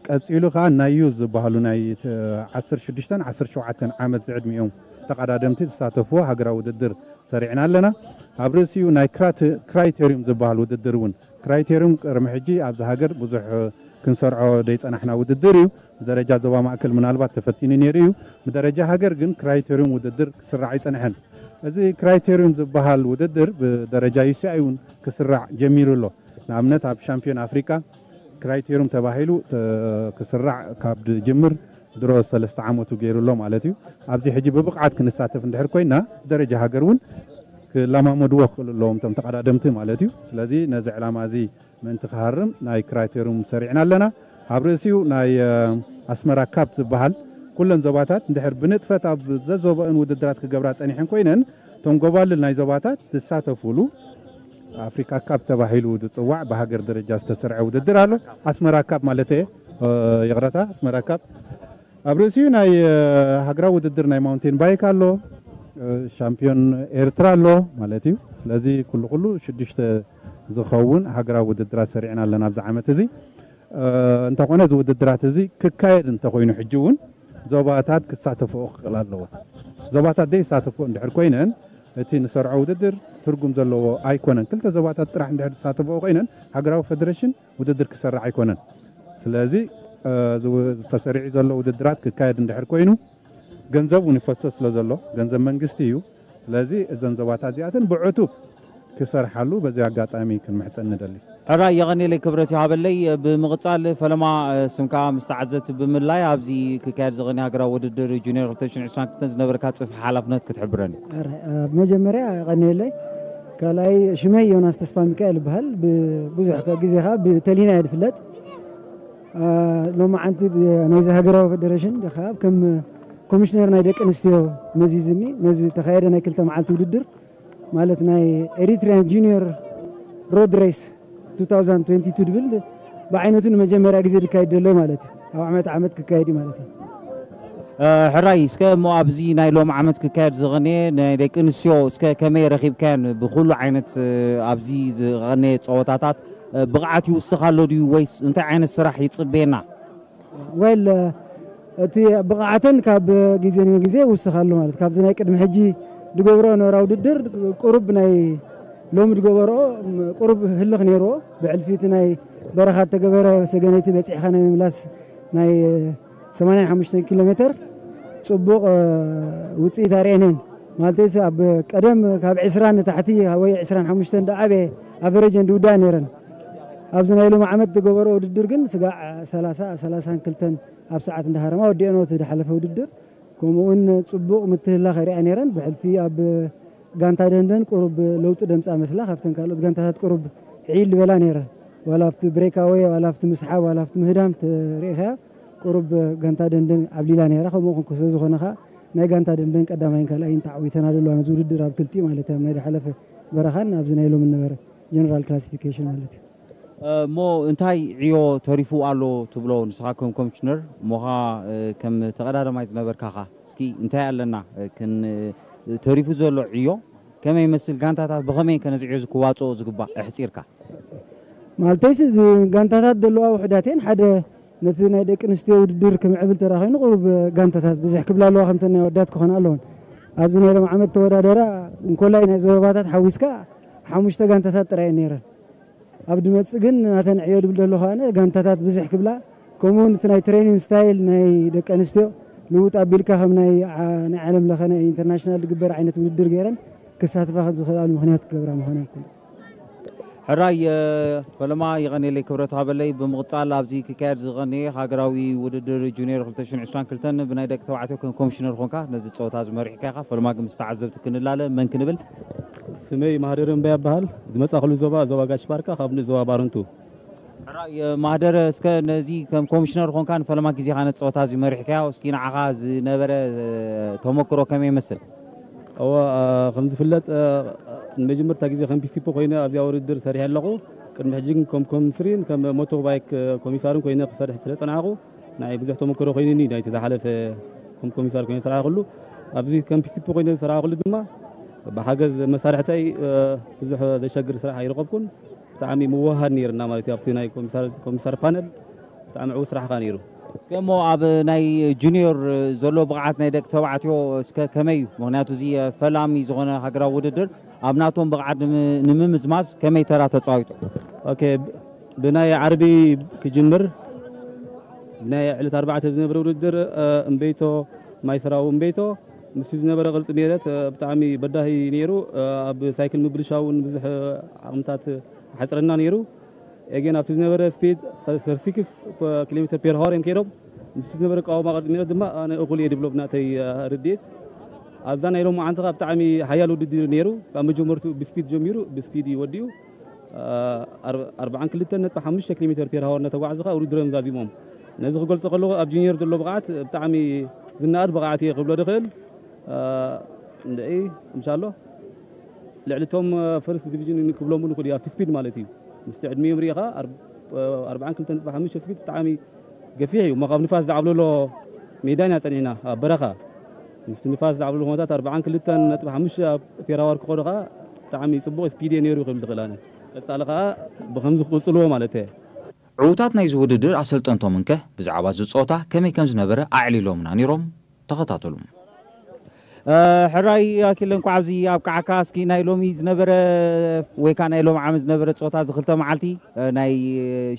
ቀፂሉ ከዓ ናይ ዩዝ ዝበሃሉ ናይ ዓሰርተ ሽዱሽተን ዓሰርተ ሸውዓተን ዓመት ዝዕድሚኦም ተቐዳደምቲ ዝሳተፍዎ ሃገራዊ ውድድር ሰሪዕና ኣለና። ኣብ ርእሲኡ ናይ ክራይቴሪዩም ዝበሃል ውድድር እውን ክራይቴሪዩም ቅድሚ ሕጂ ኣብዚ ሃገር ብዙሕ ክንሰርዖ ዘይፀናሕና ውድድር እዩ። ብደረጃ ዞባ ማእከል ምናልባት ተፈቲኑ ነይሩ እዩ። ብደረጃ ሃገር ግን ክራይቴሪዩም ውድድር ክስራዕ ኣይፀንሐን። እዚ ክራይቴሪዩም ዝበሃል ውድድር ብደረጃ ዩሲኣይ እውን ክስራዕ ጀሚሩ ኣሎ። ንኣብነት ኣብ ሻምፒዮን ኣፍሪቃ ክራይቴሪዩም ተባሂሉ ክስራዕ ካብ ዝጅምር ድሮ ሰለስተ ዓመቱ ገይሩ ኣሎ ማለት እዩ። ኣብዚ ሕጂ ብብቕዓት ክንሳተፍ እንድሕር ኮይና ብደረጃ ሃገር እውን ክለማመድዎ ክኽእሉ ኣለዎም፣ እቶም ተቐዳደምቲ ማለት እዩ። ስለዚ ነዚ ዕላማ እዚ ምእንቲ ክሃርም ናይ ክራይቴሪዩም ሰሪዕና ኣለና። ኣብ ርእሲኡ ናይ ኣስመራ ካፕ ዝበሃል ኩለን ዞባታት እንድሕር ብንጥፈት ኣብ ዘዞባእን ውድድራት ክገብራ ጸኒሐን ኮይነን፣ እቶም ጎባልል ናይ ዞባታት ዝሳተፉሉ ኣፍሪካ ካፕ ተባሂሉ ዝጽዋዕ ብሃገር ደረጃ ዝተሰርዐ ውድድር ኣሎ። ኣስመራ ካፕ ማለት እየ፣ ይቕረታ፣ ኣስመራ ካፕ ኣብ ርእሲኡ ናይ ሃገራዊ ውድድር ናይ ማውንቴን ባይክ ኣሎ፣ ሻምፒዮን ኤርትራ ኣሎ ማለት እዩ። ስለዚ ኩሉ ኩሉ ሽዱሽተ ዝኸውን ሃገራዊ ውድድራት ሰሪዕና ኣለና ኣብዚ ዓመት እዚ። እንተኾነ እዚ ውድድራት እዚ ክካየድ እንተኾይኑ ሕጂ እውን ዞባታት ክሳተፍኦ ክኽእል ኣለዎ። ዞባታት ዘይሳተፍኦ እንድሕር ኮይነን እቲ ንሰርዖ ውድድር ትርጉም ዘለዎ ኣይኮነን። ክልተ ዞባታት ጥራሕ እንድሕር ዝሳተፍኦ ኮይነን ሃገራዊ ፌደሬሽን ውድድር ክሰርዕ ኣይኮነን። ስለዚ ዝተሰሪዑ ዘሎ ውድድራት ክካየድ እንድሕር ኮይኑ ገንዘብ እውን ይፈሰስ ስለ ዘሎ ገንዘብ መንግስቲ እዩ። ስለዚ እዘን ዞባታት እዚኣተን ብዕቱብ ክሰርሓሉ በዚ ኣጋጣሚ ክንምሕፀን ንደሊ። ሕራይ የቐኔለይ ክብረት ይሃበለይ። ብምቕጻል ፈለማ ስምካ ምስ ተዓዘብቲ ብምልላይ ኣብዚ ክካየድ ዝቐኒ ሃገራዊ ውድድር ጁኒየር ክልተ ሽሕን ዕስራን ክልተን ዝነበረካ ጽፍሒ ሓላፍነት ክትሕብረኒ። ሕራይ፣ ኣብ መጀመርያ የቐኔለይ። ካልኣይ ሽመይ ዮናስ ተስፋ ሚካኤል ይበሃል። ብዙሕ ግዜ ኸዓ ብተሊና እየ ዝፍለጥ። ሎማዓንቲ ናይዚ ሃገራዊ ፌደሬሽን ከዓ ከም ኮሚሽነር ናይ ደቂ ኣንስትዮ መዚዝኒ ነዚ ተኻየደ ናይ ክልተ መዓልቲ ውድድር ማለት ናይ ኤሪትሪያን ጁኒየር ሮድ ሬስ two thousand twenty two ድብል ብዓይነቱ ንመጀመርያ ግዜ ዝካየድ ዘሎ ማለት እዩ። ኣብ ዓመት ዓመት ክካየድ እዩ ማለት እዩ። ሕራይ እስከ እሞ ኣብዚ ናይ ሎም ዓመት ክካየድ ዝቐነየ ናይ ደቂ ኣንስትዮ እስከ ከመይ ረኺብካየን? ብኩሉ ዓይነት ኣብዚ ዝቐነየ ፀወታታት ብቕዓት ይውስኽ ኣሎ ድዩ ወይስ እንታይ ዓይነት ስራሕ ይፅበየና? ወል እቲ ብቕዓተን ካብ ግዜ ንግዜ ይውስኽ ኣሎ ማለት ካብዚ ናይ ቅድሚ ሕጂ ዝገብሮ ነበራ ውድድር ቁሩብ ናይ ሎሚ ዝገበርኦ ቁሩብ ህልኽ ነይርዎ። ብሕልፊ እቲ ናይ በረኻ እተገበረ ሰገነይቲ በፂሕኻ ናይ ምምላስ ናይ ሰማንያን ሓሙሽተን ኪሎ ሜተር ፅቡቕ ውፅኢት ኣርእየን እየን። ማለት ኣብ ቀደም ካብ ዕስራን ንታሕቲ ወይ ዕስራን ሓሙሽተን ዝዓበየ ኣቨሬጀን ዝውዳእ ነይረን። ኣብዚ ናይ ሎሚ ዓመት ዝገበርኦ ውድድር ግን ስጋዕ ሰላሳ ሰላሳን ክልተን ኣብ ሰዓት እንዳሃረማ ወዲአንኦ እቲ ዝሓለፈ ውድድር። ከምኡ እውን ፅቡቕ ምትህልላኽ የርእያ ነይረን። ብሕልፊ ኣብ ጋንታ ደንደን ቁሩብ ለውጢ ደምፃ መስላ ካብተን ካልኦት ጋንታታት ቁሩብ ዕይል ዝበላ ነይረን። ዋላ ኣብቲ ብሬካወይ ዋላ ኣብቲ ምስሓብ ዋላ ኣብቲ ምህዳም ተሪኢኻያ ቁሩብ ጋንታ ደንደን ዓብሊላ ነይራ። ከምኡ ስለ ዝኾነ ከዓ ናይ ጋንታ ደንደን ቀዳማይን ካልኣይን ተዓዊተናሉ ኣለዋ ነዚ ውድድር ኣብ ክልቲኡ ማለት እዩ ናይ ዝሓለፈ በረኻን ኣብዚ ናይ ሎሚ ነበረ ጀነራል ክላሲፊኬሽን ማለት እዩ። እሞ እንታይ ዕዮ ተሪፉ ኣሎ ትብሎ ንስኻ ከም ኮሚሽነር እሞኻ ከም ተቐዳዳማይ ዝነበርካኻ እስኪ እንታይ ኣለና ተሪፉ ዘሎ ዕዮ ከመይ ይመስል ጋንታታት ብኸመይ ከነዚ ዕዮ ዝክዋፅኦ ዝግባእ ኣሕፂርካ? ማለተይስ እዚ ጋንታታት ዘለዋ ውሕዳት እየን ሓደ ነቲ ናይ ደቂ ኣንስትዮ ውድድር ክምዕብል ተራ ኮይኑ ቁሩብ ጋንታታት ብዝሕ ክብላ ኣለዋ ከምተን ናይ ወዳት ክኾና ኣለወን። ኣብዚ ናይ ሎም ዓመት ተወዳደራ እንኮላይ ናይ ዞባታት ሓዊስካ ሓሙሽተ ጋንታታት ጥራይ እየን ነይረን። ኣብ ድመፅእ ግን ናተን ዕዮ ድብል ዘሎ ከኣነ ጋንታታት ብዝሕ ክብላ ከምኡ እውን እቲ ናይ ትሬኒንግ ስታይል ናይ ደቂ ኣንስትዮ ልውጥ ኣቢልካ ከም ናይ ዓ- ናይ ዓለም ለኸ ናይ ኢንተርናሽናል ዝግበር ዓይነት ውድድር ገይረን ክሳተፋ ከም ዝኽእላሉ ምክንያት ክገብራ ምዃነን ኩሉ። ሕራይ ፈለማ ይቐኔለይ ክብረት ሃበለይ ብምቕፃል ኣብዚ ክካየድ ዝቐነየ ሃገራዊ ውድድር ጁኒየር ክልተ ሽሕን ዕስራን ክልተን ብናይ ደቂ ተባዕትዮ ከም ኮሚሽነር ኾንካ ነዚ ፀወታ ዝመሪሕካ ኢኻ ፈለማ ግን ምስ ተዓዘብቲ ክንላለ መን ክንብል? ስመይ ማህደር እምባ ይበሃል። ዝመፃእኩሉ ዞባ ዞባ ጋሽ ባርካ ካብ ንእ ዞባ ባረንቱ። ሕራይ ማህደር እስከ ነዚ ከም ኮሚሽነር ኾንካ ንፈለማ ግዜኻ ነቲ ፀወታ እዚ መሪሕካዮ እስኪ ንዓኻ ዝነበረ ተሞክሮ ከመይ ይመስል? እወ ከም ዝፍለጥ ንመጀመርታ ግዜ ከም ፒሲፖ ኮይነ ኣብዚኣ ውድድር ሰሪሐ ኣለኹ። ቅድሚ ሕጂ ግን ከም ኮምስሪን ከም ሞቶ ባይክ ኮሚሳርን ኮይነ ክሰርሕ ስለ ፀናሕኩ ንዓይ ብዙሕ ተመክሮ ኮይኑኒ ናይቲ ዝሓለፈ ከም ኮሚሳር ኮይነ ዝሰራሕኩሉ ኣብዚ ከም ፒሲፒ ኮይነ ዝሰራሕኩሉ ድማ ብሓገዝ መሳርሕተይ ብዙሕ ዘሸግር ስራሕ ኣይረኸብኩን። ብጣዕሚ ምውህሃድ ነይርና ማለት እዩ ኣብቲ ናይ ኮሚሳር ፓነል ብጣዕሚ ዕው ስራሕ ከ ነይሩ። እስከ እሞ ኣብ ናይ ጁኒዮር ዘሎ ብቕዓት ናይ ደቂ ተባዕትዮ እስከ ከመይ እዩ? ምክንያቱ እዚ ፈላሚ ዝኾነ ሃገራዊ ውድድር ኣብ ናቶም ብቕዓት ንምምዝማዝ ከመይ ተራ ተፃዊቱ? ኦኬ ብናይ ዓርቢ ክጅምር ናይ ዕለት ኣርባዕተ ዝነብረ ውድድር እምበይቶ ማይ ሰራዊ እምበይቶ ምስ ዝነበረ ቅርፂ ሜረት ብጣዕሚ በዳሂ ነይሩ። ኣብ ሳይክል ምብልሻው እውን ብዙሕ ዓቕምታት ሓፅረና ነይሩ። ኤጌን ኣብቲ ዝነበረ ስፒድ thirty six ኪሎ ሜትር ፔር ሃወር እዮም ከይዶም ምስ ዝነበረ ቃወማ ቅርፂ ሜረት ድማ ኣነ እኹል እየ ድብሎ ብናተይ ርድኤት። ኣብዛ ናይ ሎማዓንቲ ከዓ ብጣዕሚ ሓያል ውድድር ነይሩ። ካብ መጀመርቱ ብስፒድ ጀሚሩ ብስፒድ እዩ ወዲኡ። ኣርባዓን ክልተን ነጥቢ ሓሙሽተ ኪሎ ሜትር ፔር ሃወር እናተጓዕዘ ከዓ ውድድሮም ዛዚሞም። ነዚ ክገልፆ ከለኹ ኣብ ጁኒየር ዘሎ ብቕዓት ብጣዕሚ ዝነኣድ ብቕዓት እየ ክብሎ ዝኽእል። እንድዒ እንሻሎ ልዕሊ እቶም ፈርስት ዲቪዥን ክብሎም እውን ይኽእል እዩ ኣብቲ ስፒድ ማለት እዩ። ምስቲ ዕድሚኦም ሪኢኻ ኣርባዓን ክልተን ነጥቢ ሓሙሽተ ስፒድ ብጣዕሚ ገፊሕ እዩ እሞ ካብ ንፋስ ዝዓብለሎ ሜዳ ኢና ጸኒሕና ኣብ በረኻ ምስቲ ንፋስ ዝዓብለሎ ኩነታት ኣርባዓን ክልተን ነጥቢ ሓሙሽተ ኣብ ፔራዋር ክኸዱ ከዓ ብጣዕሚ ጽቡቕ ስፒድ እየ ነይሩ ክብል ዝኽእል ኣነ ቀጻሊ ከዓ ብከምዚ ክቕጽልዎ ማለት እየ። ዕዉታት ናይዚ ውድድር ኣሰልጠንቶም እንከ ብዛዕባ እዚ ጸወታ ከመይ ከም ዝነበረ ኣዕሊሎምና ነይሮም። ተኸታተሉ። ሕራይ ኣኪለ እንኳዕ ኣብዚ ኣብቃዓካ። እስኪ ናይ ሎሚ ዝነበረ ወይ ከዓ ናይ ሎሚ ዓመት ዝነበረ ፀወታ እዚ ክልተ መዓልቲ ናይ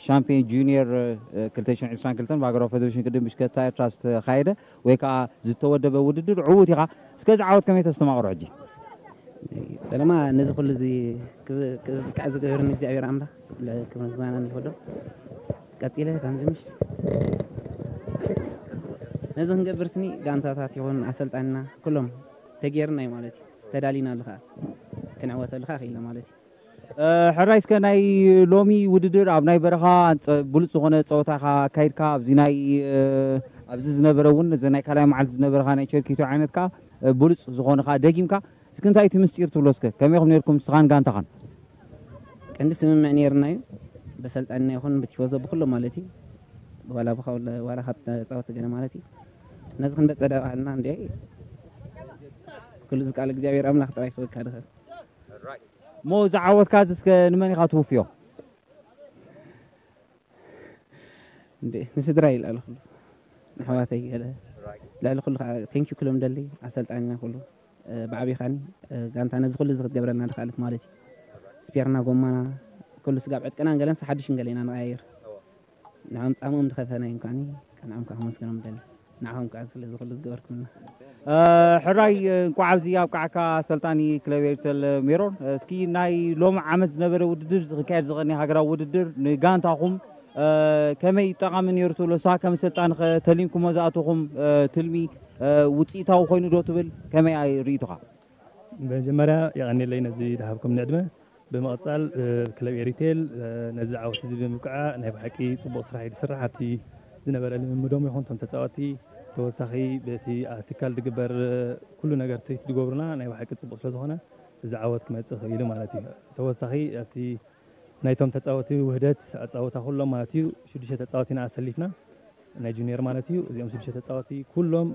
ሻምፒዮን ጁኒየር ክልተ ሽሕን ዕስራን ክልተን ብሃገራዊ ፌደሬሽን ቅድም ብሽከታ ኤርትራ ዝተኻየደ ወይ ከዓ ዝተወደበ ውድድር ዕዉት ኢኻ። እስከ እዚ ዓወት ከመይ ተስተማቕሮ ሕጂ? ፈለማ ነዚ ኩሉ እዚ ክብቃዕ ዝገበርኒ እግዚኣብሔር ኣምላኽ ክብርን ዝባናን ይኸዶ። ቀጺለ ከምዚ ምሽ ነዚ ክንገብር ስኒ ጋንታታት ይኹን ኣሰልጣንና ኩሎም ተጌርና እዩ ማለት እዩ። ተዳሊና ኣለኻ ክንዕወተሉ ኸዓ ክኢልና ማለት እዩ። ሕራይ እስከ ናይ ሎሚ ውድድር ኣብ ናይ በረኻ ብሉፅ ዝኾነ ፀወታ ኢኻ ኣካይድካ ኣብዚ ናይ ኣብዚ ዝነበረ እውን እዚ ናይ ካልኣይ መዓልቲ ዝነበረኻ ናይ ቸርኪቱ ዓይነት ከዓ ብሉፅ ዝኾነ ከዓ ደጊምካ እስኪ እንታይ እቲ ምስጢር ትብሎ እስከ ከመይኹም ነርኩም ንስኻን ጋንታኻን? ቀንዲ ስምምዕ ነይርና እዩ በሰልጣንና ይኹን ብቲፎዞ ብኩሎም ማለት እዩ ዋላ ብኻውለ ዋላ ካብ ተፃወቲ ገለ ማለት እዩ ነዚ ክንበፀ ደባልና እንዲ ኩሉ ዝቃል እግዚኣብሔር ኣምላኽ ጥራይ ክበካ ድኸ እሞ ዝዓወትካ እዚ እስከ ንመን ኢኻ ትውፍዮ? እንዴ ንስድራ ይልኣሉ ኩሉ ንሕዋተይ ገለ ልዕሊ ኩሉ ከዓ ቴንኪ ክሎም ደሊ ኣሰልጣኒና ኩሉ ብዓብይኻኒ ጋንታ ነዚ ኩሉ እዚ ክትገብረልና ድክኣለት ማለት እዩ ስፔርና ጎማና ኩሉ ስጋብ ዕጥቀናን ገለን ሓድሽን ገለ ኢና ንቀያየር ንዖም ፃምኦም ድኸፈና እዮም ከዓኒ ቀንዖም ከዓ ከመስገኖም ደሊ ንዓኹም ከዓ ስለዚ ኩሉ ዝገበርኩምና ሕራይ እንኳዕ ኣብዚ ኣብቃዕካ ኣሰልጣኒ ክለብ ኤርተል ሜሮን እስኪ ናይ ሎም ዓመት ዝነበረ ውድድር ዝክካየድ ዝቀኒ ሃገራዊ ውድድር ንጋንታኹም ከመይ ጠቃሚ ነይሩ ትብሎ ንስኻ ከም ኣሰልጣኒ ከ ተሊምኩሞ ዝኣተኹም ትልሚ ውፅኢታዊ ኮይኑ ዶ ትብል ከመይ ርኢቱኻ መጀመርያ የቐንየለይ ነዚ ዝሃብኩም ንዕድመ ብምቕፃል ክለብ ኤሪቴል ነዚ ዓወት እዚ ብምብቅዓ ናይ ብሓቂ ፅቡቕ ስራሕ እዩ ዝስራሕ ኣብቲ ዝነበረ ልምምዶም ይኹን እቶም ተፃወቲ ተወሳኺ በቲ ትካል ዝግበር ኩሉ ነገር ትሪት ዝገብሩና ናይ ብሓቂ ፅቡቕ ስለዝኾነ እዚ ዓወት ክመፅእ ክኢሉ ማለት እዩ ተወሳኺ ኣብቲ ናይቶም ተፃወቲ ውህደት ኣፃወታ ኩሎም ማለት እዩ ሽዱሽተ ተፃወቲና ኣሰሊፍና ናይ ጁኒየር ማለት እዩ እዚኦም ሽዱሽተ ተፃወቲ ኩሎም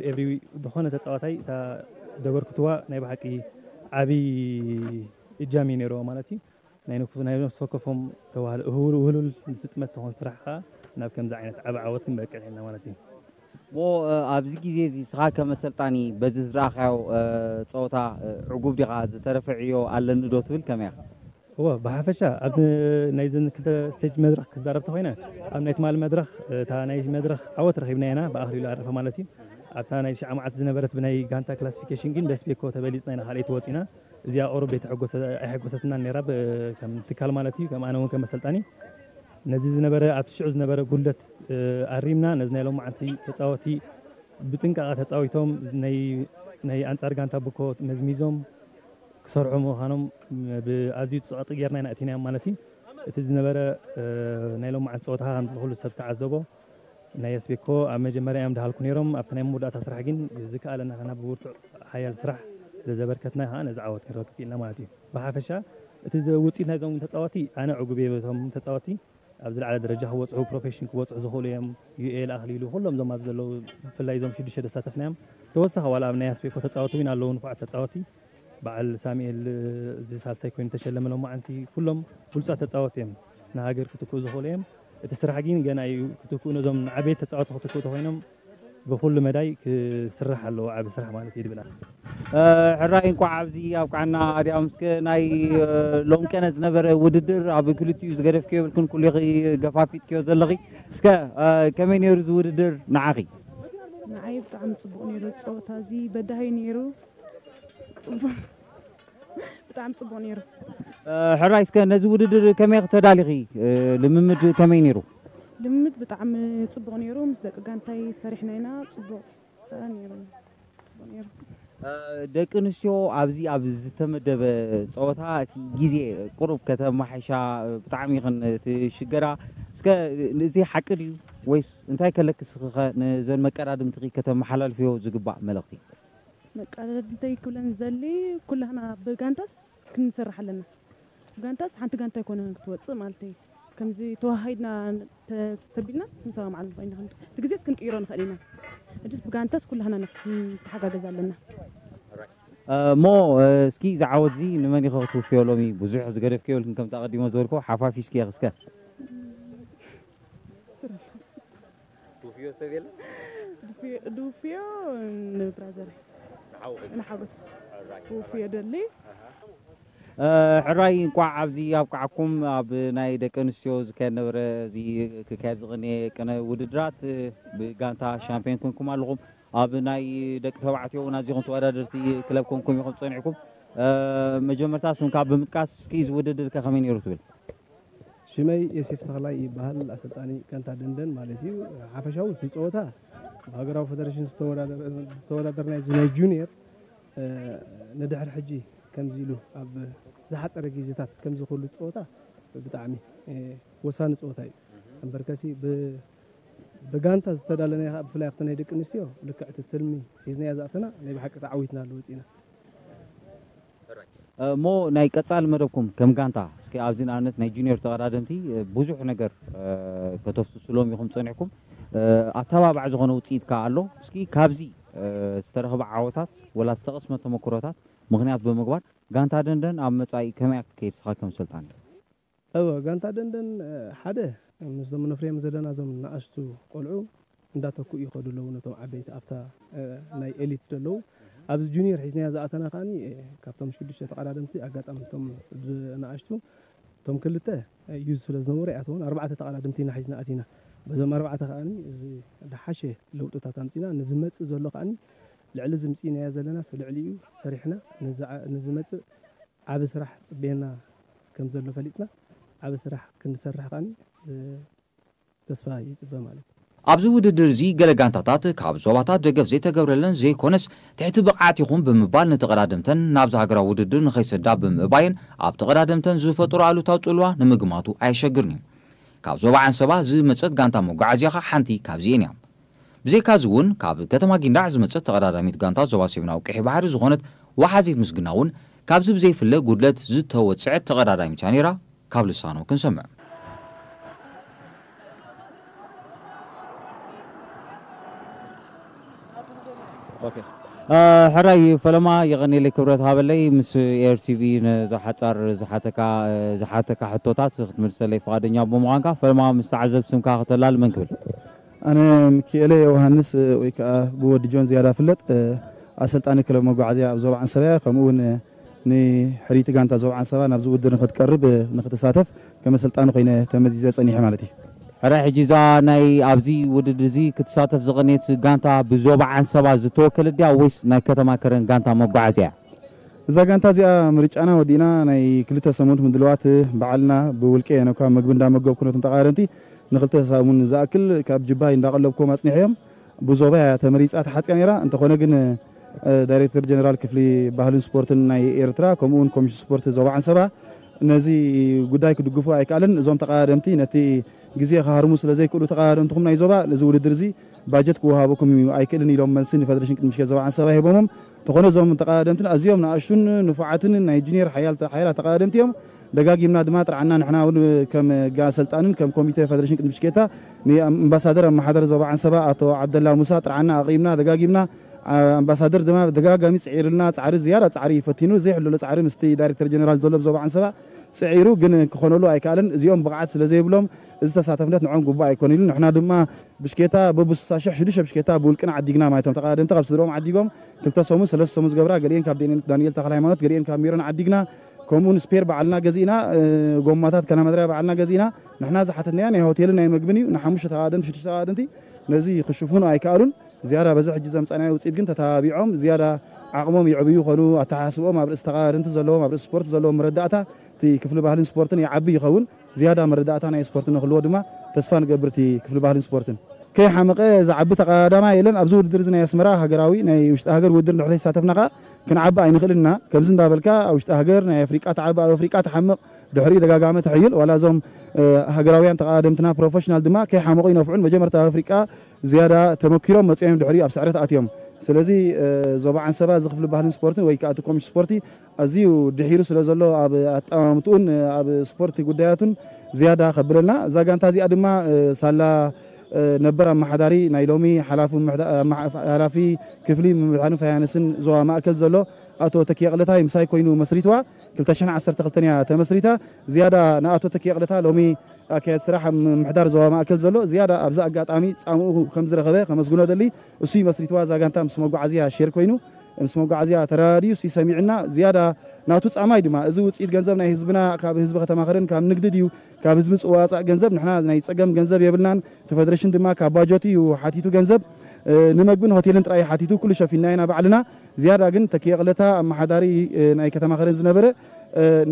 ኤቭሪ ዝኾነ ተፃዋታይ እታ ደበርክትዋ ናይ ብሓቂ ዓብይ እጃም እዩ ነይርዎ ማለት እዩ ናይ ነፍሲ ወከፎም ተዋህል ውህሉል ዝጥመት ትኾን ስራሕ ከዓ ናብ ከምዚ ዓይነት ዓቢ ዓወት ክንበቅዕ ኢልና ማለት እዩ ሞ ኣብዚ ግዜ እዚ ስኻ ከም ኣሰልጣኒ በዚ ዝረኣኻዮ ፀወታ ዕጉብ ዲኻ ዝተረፈ ዕዮ ኣለኒ ዶ ትብል ከመይ ኢኻ እወ ብሓፈሻ ኣብዚ ናይዘን ክልተ ስቴጅ መድረኽ ክዛረብ ተኾይነ ኣብ ናይ ትማሊ መድረኽ እታ ናይ መድረኽ ዓወት ረኺብና ኢና ብኣኽሊሉ ኣረፈ ማለት እዩ ኣብታ ናይ ሽዓ መዓልቲ ዝነበረት ብናይ ጋንታ ክላሲፊኬሽን ግን በስቤኮ ተበሊፅና ኢና ካልኣይቲ ወፂና እዚኣ ቁሩብ ኣይተሐጎሰትናን ነይራ ከም ትካል ማለት እዩ ከም ኣነ እውን ከም ኣሰልጣኒ ነዚ ዝነበረ ኣብቲ ሽዑ ዝነበረ ጉድለት ኣሪምና ነዚ ናይ ሎማዓንቲ ተፃወቲ ብጥንቃቐ ተፃዊቶም ናይ ኣንፃር ጋንታ ብኮ መዝሚዞም ክሰርሑ ምዃኖም ብኣዝዩ ፅቕጢ ጌርና ኢና እቲናዮም ማለት እዩ እቲ ዝነበረ ናይ ሎማዓንቲ ፀወታ ከምዚ ኩሉ ሰብ ተዓዘቦ ናይ ኣስቤኮ ኣብ መጀመርያ እዮም ድሃልኩ ነይሮም ኣብቲ ናይ መወዳእታ ስራሕ ግን ዝከኣለና ከና ብብርቱዕ ሓያል ስራሕ ስለ ዘበርከትና ከዓ ነዚ ዓወት ክንረክብ ክኢልና ማለት እዩ ብሓፈሻ እቲ ውፅኢት ናይዞም ተፃወቲ ኣነ ዕጉብ እየ በቶም ተፃወቲ ኣብ ዝለዓለ ደረጃ ክበፅሑ ፕሮፌሽን ክበፅሑ ዝኽእሉ እዮም ዩኤል ኣኽሊሉ ኩሎም ዞም ኣብ ዘለዉ ብፍላይ ዞም ሽዱሽተ ዘሳተፍናዮም ተወሳኺ ዋላ ኣብ ናይ ኣስቤኮ ተፃወቲ እውን ኣለዉ ንፉዓት ተፃወቲ በዓል ሳሙኤል እዚ ሳልሳይ ኮይኑ ተሸለመ ሎማዓንቲ ኩሎም ብሉፃት ተፃወቲ እዮም ንሃገር ክትክኡ ዝኽእሉ እዮም እቲ ስራሕ ግን ገና እዩ ክትክኡ ነዞም ዓበይቲ ተፃወቲ ክትክኡ ተኮይኖም ብኩሉ መዳይ ክስራሕ ኣለዎ ዓቢ ስራሕ ማለት እዩ ድብላ ሕራይ እንኳዕ ኣብዚ ኣብቃዕና ኣዲኣ ምስከ ናይ ሎም ቀነ ዝነበረ ውድድር ኣብ ክልቲኡ ዝገደፍክዮ የብልክን ኩሉ ገፋፊጥክዮ ዘለኺ እስከ ከመይ ነይሩ እዚ ውድድር ንዓኺ ንዓይ ብጣዕሚ ፅቡቅ ነይሩ ፀወታ እዚ በዳሂ ነይሩ ፅቡቅ ብጣዕሚ ፅቡቅ ነይሩ ሕራይ እስከ ነዚ ውድድር ከመይ ክተዳሊኺ ልምምድ ከመይ ነይሩ ልምምድ ብጣዕሚ ፅቡቅ ነይሩ ምስ ደቂ ጋንታይ ሰሪሕና ኢና ፅቡቅ ነይሩ ደቂ ኣንስትዮ ኣብዚ ኣብ ዝተመደበ ፀወታ እቲ ግዜ ቁሩብ ከተማሓይሻ ብጣዕሚ ይኽን ትሽገራ። እስከ እዚ ሓቂ ድዩ ወይስ እንታይ ከለኪ እስኺ ኸ ነዘን መቀዳድምትኺ ከተመሓላልፍዮ ዝግባእ መልእኽቲ? መቀዳድምተይ ክብለን ዝደሊ ኩላህና ብጋንታስ ክንሰርሕ ኣለና። ብጋንታስ ሓንቲ ጋንታ ኣይኮነን ክትወፅእ ማለተይ። ከምዚ ተዋሃሂድና ተ- ተቢልናስ ንሰማምዓሉ ኮይና እቲ ግዜስ ክንቅይሮ ንኽእል ኢና። እጅስ ብጋንታስ ኩላህና ንተሓጋገዝ ኣለና። እሞ እስኪ ዝዓወት እዚ ንመን ኢኸ ክትውፍዮ ሎሚ? ብዙሕ ዝገደፍክዮ የብልክን ከምቲ ኣቐዲሞ ዝበልኩ ሓፋፊስኪ ኢኺ እስከ። ትውፍዮ ሰብ የለን? ድውፍዮ ንብራዘር ንሓጎስ ውፍዮ ደሊ። ሕራይ እንቋዕ ኣብዚ ኣብቃዓኩም። ኣብ ናይ ደቂ ኣንስትዮ ዝካየድ ነበረ እዚ ክካየድ ዝቕንየ ቅነ ውድድራት ብጋንታ ሻምፒዮን ኮንኩም ኣለኹም። ኣብ ናይ ደቂ ተባዕትዮ እውን ኣዚኹም ተወዳደርቲ ክለብ ኮንኩም ኢኹም ጸኒዕኩም። መጀመርታ ስምካ ብምጥቃስ እስኪ እዚ ውድድር ከ ከመይ ነይሩ ትብል? ሽመይ የሴፍ ተኽላይ ይበሃል። ኣሰልጣኒ ጋንታ ደንደን ማለት እዩ። ሓፈሻዊ እቲ ፀወታ ብሃገራዊ ፌደሬሽን ዝተወዳደርናዮ እዚ ናይ ጁኒየር ንድሕሪ ሕጂ ከምዚ ኢሉ ኣብ ዝሓፀረ ግዜታት ከምዚ ኩሉ ፀወታ ብጣዕሚ ወሳኒ ፀወታ እዩ። እምበርከሲ ብጋንታ ዝተዳለናዮ ከዓ ብፍላይ ኣብቲ ናይ ደቂ ኣንስትዮ ልክዕ እቲ ትልሚ ሒዝናዮ ዝኣተና ናይ ብሓቂ ተዓዊትና ኣሎ ወፂና። እሞ ናይ ቀፃሊ መደብኩም ከም ጋንታ እስኪ ኣብዚ ንኣብነት ናይ ጁኒየር ተቐዳደምቲ ብዙሕ ነገር ከተፍስስሎም ኢኹም ፀኒሕኩም። ኣተባባዕ ዝኾነ ውፅኢት ከዓ ኣሎ። እስኪ ካብዚ ዝተረኽበ ዓወታት ወላ ዝተቐስመ ተመክሮታት ምኽንያት ብምግባር ጋንታ ደንደን ኣብ መፃኢ ከመይ እያ ክትከይድ እስኻ ከም ሰልጣኒ? እወ ጋንታ ደንደን ሓደ ምስዞም ነፍርዮም ዘለና እዞም ንኣሽቱ ቆልዑ እንዳተኩኡ ይኸዱ ኣለዉ ነቶም ዓበይቲ ኣብታ ናይ ኤሊት ዘለዉ ኣብዚ ጁኒየር ሒዝናያ ዝኣተና ከዓኒ ካብቶም ሽዱሽተ ተቐዳደምቲ ኣጋጣሚ እቶም ንኣሽቱ እቶም ክልተ ዩዝ ስለ ዝነበሩ ኣይኣተውን ኣርባዕተ ተቐዳደምቲ ኢና ሒዝና ኣቲና በዞም ኣርባዕተ ከዓኒ እዚ ዝሓሸ ለውጥታት ኣምፂና ንዝመፅእ ዘሎ ከዓኒ ልዕሊ ዝምፅእናዮ ዘለና ልዕሊኡ ሰሪሕና ንዝመፅእ ዓቢ ስራሕ ጽበየና ከም ዘሎ ፈሊጥና ዓቢ ስራሕ ክንሰርሕ ከዓኒ ተስፋ ይጽበ ማለት እዩ። ኣብዚ ውድድር እዚ ገለ ጋንታታት ካብ ዞባታት ደገፍ ዘይተገብረለን ዘይኮነስ ትሕቲ ብቕዓት ኢኹም ብምባል ንተቐዳደምተን ናብዚ ሃገራዊ ውድድር ንኸይሰዳ ብምእባየን ኣብ ተቐዳደምተን ዝፈጠሮ ኣሉታዊ ጽልዋ ንምግማቱ ኣየሸግርን እዩ። ካብ ዞባ ዓንሰባ ዝመጸት ጋንታ መጓዓዝያ ኸኣ ሓንቲ ካብዚኤን እያ። ብዘይካዚ እውን ካብ ከተማ ጊንዳዕ ዝመጸት ተቐዳዳሚት ጋንታ ዞባ ሰሜናዊ ቀይሕ ባሕሪ ዝኾነት ወሓዚት ምስግና እውን ካብዚ ብዘይፍለ ጉድለት ዝተወጽዐት ተቐዳዳሚት እያ ነይራ። ካብ ልሳኑ ክንሰምዕ። ሕራይ ፈለማ የቐኔለይ ክብረት ሃበለይ ምስ ኤር ቲቪ ነዛ ሓጻር ዝሓተካ ዝሓተካ ሕቶታት ክትምልሰለይ ፍቓደኛ ብምዃንካ ፈለማ ምስ ተዓዘብ ስምካ ከተላል መን ክብል? ኣነ ሚኪኤለ ዮውሃንስ ወይ ከዓ ብወዲ ጆን ዝያዳ ፍለጥ ኣሰልጣኒ ክለብ መጓዓዝያ ኣብ ዞባ ዓንሰባ እያ። ከምኡ እውን ንሕርይቲ ጋንታ ዞባ ዓንሰባ ናብዚ ውድድር ንክትቀርብ ንክትሳተፍ ከም ኣሰልጣኒ ኮይነ ተመዚዘ ፀኒሐ ማለት እዩ። ሕራይ ሕጂ እዛ ናይ ኣብዚ ውድድር እዚ ክትሳተፍ ዝቐነየት ጋንታ ብዞባ ዓንሰባ ዝተወከለት ድያ ወይስ ናይ ከተማ ከረን ጋንታ መጓዓዝያ እያ? እዛ ጋንታ እዚኣ ምርጫና ወዲእና ናይ ክልተ ሰሙን ምድልዋት ባዕልና ብውልቀ እየ ነኳ ምግቢ እንዳመገብኩ ነቶም ተቃረንቲ ንክልተ ሰሙን ዝኣክል ካብ ጅባይ እንዳቀለብኩም ኣጽኒሐዮም ብዞባ እያ ተመሪጻ ተሓጽያ ነይራ እንተኾነ ግን ዳይሬክተር ጀነራል ክፍሊ ባህልን ስፖርትን ናይ ኤርትራ ከምኡ እውን ኮሚሽን ስፖርት ዞባ ዓንሰባ ነዚ ጉዳይ ክድግፉ ኣይከኣልን እዞም ተቃደምቲ ነቲ ግዜ ክሃርሙ ስለ ዘይክእሉ ተቃደምትኹም ናይ ዞባ ነዚ ውድድር እዚ ባጀት ክወሃበኩም እዩ ኣይክእልን ኢሎም መልሲ ንፈደሬሽን ቅድሚ ሽገት ዞባ ዓንሰባ ሂቦሞም እንተኾነ እዞም ተቐዳደምትን ኣዝዮም ንኣሽቱን ንፉዓትን ናይ ጁኒየር ሓያላት ተቐዳደምቲ እዮም። ደጋጊምና ድማ ጥርዓና ንሕና እውን ከም ኣሰልጣንን ከም ኮሚቴ ፈደሬሽን ቅድሚ ሽጌታ ንኣምባሳደር ኣመሓደር ዞባ ዓንሰባ ኣቶ ዓብደላ ሙሳ ጥርዓና ኣቕሪብና ደጋጊምና ኣምባሳደር ድማ ደጋጋሚ ፅዒርልና ፃዕሪ ዝያዳ ፃዕሪ ፈቲኑ ዘይሕለሎ ፃዕሪ ምስቲ ዳይሬክተር ጀነራል ዘሎ ብዞባ ዓንሰባ ፅዒሩ ግን ክኾነሉ ኣይከኣለን እዚኦም ብቕዓት ስለ ዘይብሎም እዚ ተሳተፍነት ንዖም ግቡእ ኣይኮን ኢሉ ንሕና ድማ ብሽኬታ በብስሳ ሽሕ ሽዱሽተ ብሽኬታ ብውልቅና ዓዲግና ማለት እዮም ተቐዳደምቲ ካብ ስድሮም ዓዲጎም ክልተ ሰሙን ሰለስተ ሰሙን ዝገብራ ገሊኤን ካብ ዳንኤል ተክለ ሃይማኖት ገሊኤን ካብ ሜሮን ዓዲግና ከምኡ እውን ስፔር ባዕልና ገዚእና ጎማታት ከናመድርያ ባዕልና ገዚእና ንሕና ዝሓተትናዮ ናይ ሆቴልን ናይ መግብን እዩ ንሓሙሽተ ተቐዳደምቲ ሽዱሽተ ተቐዳደምቲ ነዚ ክሽፍኑ ኣይከኣሉን ዝያዳ በዚ ሕጂ ዘምፃናዮ ውፅኢት ግን ተተባቢዖም ዝያዳ ዓቕሞም ይዕብዩ ይኾኑ ኣተሓሳስብኦም ኣብ ርእሲ ተቐዳደምቲ ዘለዎም ኣብ ርእሲ ስፖርት ዘለዎም መረዳእታ እቲ ክፍሊ ባህልን ስፖርትን ይዓቢ ይኸውን ዝያዳ መረዳእታ ናይ ስፖርት ንክህልዎ ድማ ተስፋ ንገብር እቲ ክፍሊ ባህልን ስፖርትን። ከይሓመቐ ዝዓቢ ተቐዳዳማይ የለን። ኣብዚ ውድድር እዚ ናይ ኣስመራ ሃገራዊ ናይ ውሽጢ ሃገር ውድድር እንድሕር ተሳተፍና ከኣ ክንዓቢ ኣይንኽእልን ኢና። ከምዚ እንዳበልካ ኣብ ውሽጢ ሃገር ናይ ኣፍሪቃ ትዓቢ፣ ኣብ ኣፍሪቃ ትሓምቕ፣ ድሕሪኡ ደጋጋመ ትሕይል። ዋላ እዞም ሃገራውያን ተቐዳደምትና ፕሮፌሽናል ድማ ከይሓመቑ ይነፍዑን መጀመርታ ኣብ ኣፍሪቃ ዝያዳ ተመኪሮም መጺኦም ድሕሪኡ ኣብ ስዕረት ኣትዮም። ስለዚ ዞባ ዓንሰባ እዚ ክፍሊ ባህልን ስፖርትን ወይ ከዓ እቲ ኮሚሽን ስፖርቲ ኣዝዩ ድሒሩ ስለ ዘሎ ኣብ ኣጠማምትኡን ኣብ ስፖርት ጉዳያቱን ዝያዳ ከብለልና። እዛ ጋንታ እዚኣ ድማ ሳላ ነበር ኣመሓዳሪ ናይ ሎሚ ሓላፊ ክፍሊ ምምሕዳርን ፋይናንስን ዞባ ማእከል ዘሎ ኣቶ ተኪየ ቅለታይ ምሳይ ኮይኑ መስሪትዋ። ክልተ ሽሕን ዓሰርተ ክልተን እያ ተመስሪታ። ዝያዳ ንኣቶ ተኪየ ቅለታ ሎሚ ኣካየድ ስራሕ ምምሕዳር ዞባ ማእከል ዘሎ ዝያዳ ኣብዚ ኣጋጣሚ ጻምኡ ከም ዝረኸበ ከመስግኖ ደሊ። እሱ መስሪትዋ እዛ ጋንታ ምስ መጓዓዝያ ሼር ኮይኑ ምስ መጓዓዝያ ተረዳዲኡ እሱ ሰሚዕና ዝያዳ ናቱ ጻማይ ድማ እዚ ውጽኢት ገንዘብ ናይ ህዝብና ካብ ህዝቢ ከተማ ከረን ካብ ንግዲ ድዩ ካብ ህዝቢ ዝዋጻእ ገንዘብ ንሕና ናይ ጸገም ገንዘብ የብልናን። እቲ ፈደረሽን ድማ ካብ ባጀቱ እዩ ሓቲቱ ገንዘብ ንምግብን ሆቴልን ጥራይ ሓቲቱ ኩሉ ሸፊንና ኢና ባዕልና። ዝያዳ ግን ተኪየ ቅለታ ኣመሓዳሪ ናይ ከተማ ከረን ዝነበረ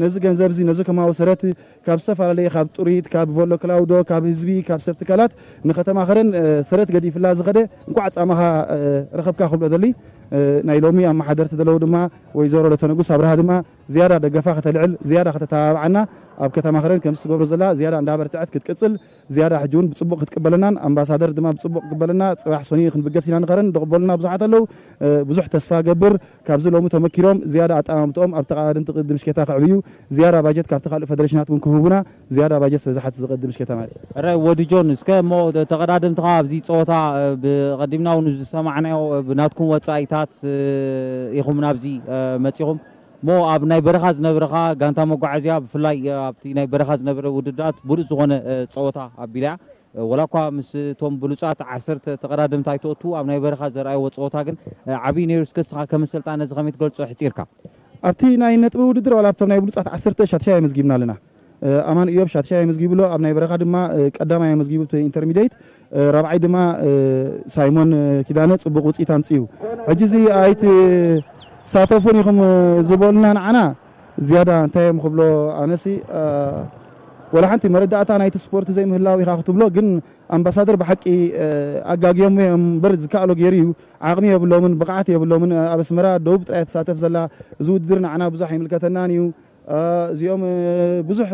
ነዚ ገንዘብ እዚ ነዚ ከማዊ ሰረት ካብ ዝተፈላለየ ካብ ጥሪት ካብ ቮሎ ክላውዶ ካብ ህዝቢ ካብ ሰብ ትካላት ንከተማ ከረን ሰረት ገዲፍላ ዝኸደ እንኳዕ ጻማኻ ረኸብካ ክብሎ ደሊ። ናይ ሎሚ ኣመሓደርቲ ዘለዉ ድማ ወይዘሮ ለተነጉስ ኣብርሃ ድማ ዝያዳ ደገፋ ከተልዕል ዝያዳ ከተተባብዓና ኣብ ከተማ ከረን ከምዚ ትገብሮ ዘላ ዝያዳ እንዳበርትዐት ክትቅጽል ዝያዳ ሕጂ እውን ብጽቡቕ ክትቅበለናን ኣምባሳደር ድማ ብጽቡቕ ክቅበለና ጽባሕ ሰኑይ ክንብገስ ኢና ንኸረን ዝቕበሉና ብዙሓት ኣለዉ። ብዙሕ ተስፋ ገብር ካብዚ ሎሚ ተመኪሮም ዝያዳ ኣጠማምትኦም ኣብ ተቓዳድምቲ ቅድድም ሽኬታ ክዕብዩ ዝያዳ ባጀት ካብቲ ካልእ ፈደረሽናት እውን ክህቡና ዝያዳ ባጀት ስለ ዝሓትት ዝቕድም ሽኬታ ማለት እዩ። ሕራይ ወዲ ጆን፣ እስከ እሞ ተቐዳደምትኻ ኣብዚ ፀወታ ብቐዲምና እውን ዝሰማዕናዮ ብናትኩም ወፃኢታት ኢኹም ናብዚ መፂኹም። እሞ ኣብ ናይ በረኻ ዝነበረኻ ጋንታ መጓዓዝያ ብፍላይ ኣብቲ ናይ በረኻ ዝነበረ ውድድራት ብሉፅ ዝኾነ ፀወታ ኣቢላ እያ። ወላ እኳ ምስ እቶም ብሉፃት ዓሰርተ ተቐዳደምቲ ኣይትወቱ ኣብ ናይ በረኻ ዘርኣይዎ ፀወታ ግን ዓብዪ ነይሩ። እስከ እስኻ ከም ኣሰልጣኒ ነዚ ከመይ ትገልፆ ኣሕፂርካ? ኣብቲ ናይ ነጥቢ ውድድር ዋላ ኣብቶም ናይ ብሉፃት ዓሰርተ ሻድሻይ ኣመዝጊብና ኣለና። ኣማን እዮብ ሻድሻይ ኣመዝጊቡ ኣሎ። ኣብ ናይ በረኻ ድማ ቀዳማይ ኣመዝጊቡ ኢንተርሚዲየት ራብዓይ ድማ ሳይሞን ኪዳነ ጽቡቕ ውጽኢት ኣምጽኡ። ሕጂ እዚ ኣይትሳተፉን ኢኹም ዝበሉና ንዓና ዝያዳ እንታይ እዮም ክብሎ ኣነሲ ወላ ሓንቲ መረዳእታ ናይቲ ስፖርት ዘይምህላው ኢኻ ክትብሎ ግን ኣምባሳደር ብሓቂ ኣጋግዮም እዮም እምበር ዝከኣሎ ገይሩ እዩ። ዓቕሚ የብሎምን ብቕዓት የብሎምን። ኣብ ኣስመራ ደቡብ ጥራይ ትሳተፍ ዘላ እዚ ውድድር ንዓና ብዙሕ ኣይምልከተናን እዩ። እዚኦም ብዙሕ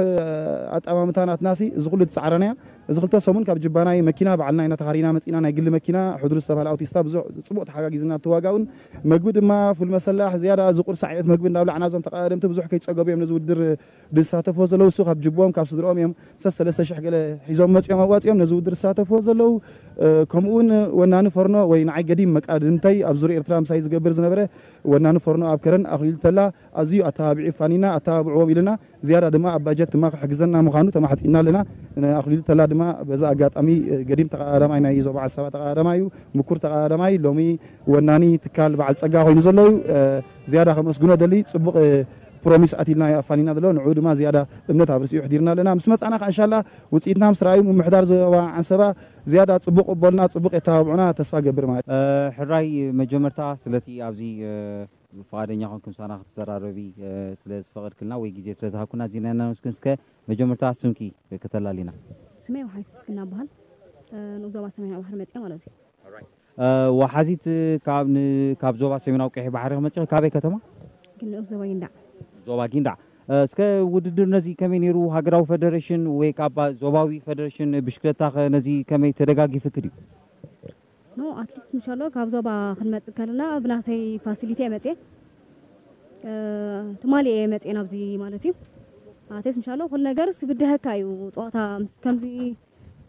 ኣጠማምታ ናትናሲ እዚ ኩሉ ትፃዕረና እያ። እዚ ክልተ ሰሙን ካብ ጅባናይ መኪና ባዕልና ኢና ተኻሪና መፂና ናይ ግሊ መኪና ሕድሩ ዝተባህለ ኣውቲስታ ብዙሕ ፅቡቕ ተሓጋጊዝና ኣብቲ ዋጋውን መግቢ ድማ ፉል መሰላሕ ዝያዳ እዚ ቁርሲ ዓይነት መግቢ እንዳብላዕና እዞም ተቐዳደምቲ ብዙሕ ከይፀገቡ እዮም ነዚ ውድድር ዝሳተፍዎ ዘለዉ እሱ ካብ ጅቦም ካብ ስድርኦም እዮም ሰስ ሰለስተ ሽሕ ገለ ሒዞም መፂኦም ኣዋፂኦም ነዚ ውድድር ዝሳተፍዎ ዘለዉ ከምኡውን ወናኒ ፈርኖ ወይ ንዓይ ገዲም መቃድንተይ ኣብ ዙር ኤርትራ ምሳይ ዝገብር ዝነበረ ወናኒ ፈርኖ ኣብ ከረን ኣኽሊሉ ተላ ኣዝዩ ኣተባቢዑ ፋኒና ኣተባብዕዎም ኢልና ዝያዳ ድማ ኣብ ባጀት ድማ ክሕግዘና ምዃኑ ተማሕፂና ኣለና። ኣኽሊሉ ተላ ድማ በዚ ኣጋጣሚ ገዲም ተቐዳዳማይ ናይ ዞባ ዓሳባ ተቐዳዳማይ እዩ። ምኩር ተቐዳዳማይ ሎሚ ወናኒ ትካል በዓል ፀጋ ኮይኑ ዘሎ እዩ። ዝያዳ ከመስግኖ ደሊ ፅቡቕ ፕሮሚስ ኣቲልና ኣፋኒና ዘሎ ንዑ ድማ ዝያዳ እምነት ኣብ ርእሲኡ ሕዲርና ኣለና። ምስ መፃና ከዓ እንሻላ ውፅኢትና ምስ ረኣዩ ምምሕዳር ዞባ ዓንሰባ ዝያዳ ፅቡቕ ቅበልና ፅቡቕ የተባብዑና ተስፋ ገብር ማለት እዩ። ሕራይ መጀመርታ ስለቲ ኣብዚ ፍቓደኛ ኮንኩም ምሳና ክትዘራረቢ ስለ ዝፈቐድክልና ወይ ግዜ ስለ ዝሃብኩና ኣዚና ኢና ነመስግን። እስከ መጀመርታ ስምኪ ከተላሊና። ስመይ ወሓይስ ምስግና እበሃል። ንኡስ ዞባ ሰሜናዊ ባሕሪ መፅኣ ማለት እዩ። ወሓዚት ካብ ን- ካብ ዞባ ሰሜናዊ ቀይሕ ባሕሪ መፂኺ ካበይ ከተማ? ግን ንኡስ ዞባ ይንዳዕ። ዞባ ጊንዳዕ። እስከ ውድድር ነዚ ከመይ ነይሩ? ሃገራዊ ፈደሬሽን ወይ ካብ ዞባዊ ፈደሬሽን ብሽክለታ ኸ ነዚ ከመይ ተደጋጊፍክ ድዩ? ኖ ኣትሊስት ምሻሎ ካብ ዞባ ክንመፅእ ከለና ብናተይ ፋሲሊቲ እየ መፅየ ትማሊ እየ መፅየ ናብዚ ማለት እዩ። ኣትሊስት ምሻሎ ኩሉ ነገርስ ብድሀካ እዩ ፀዋታ ከምዚ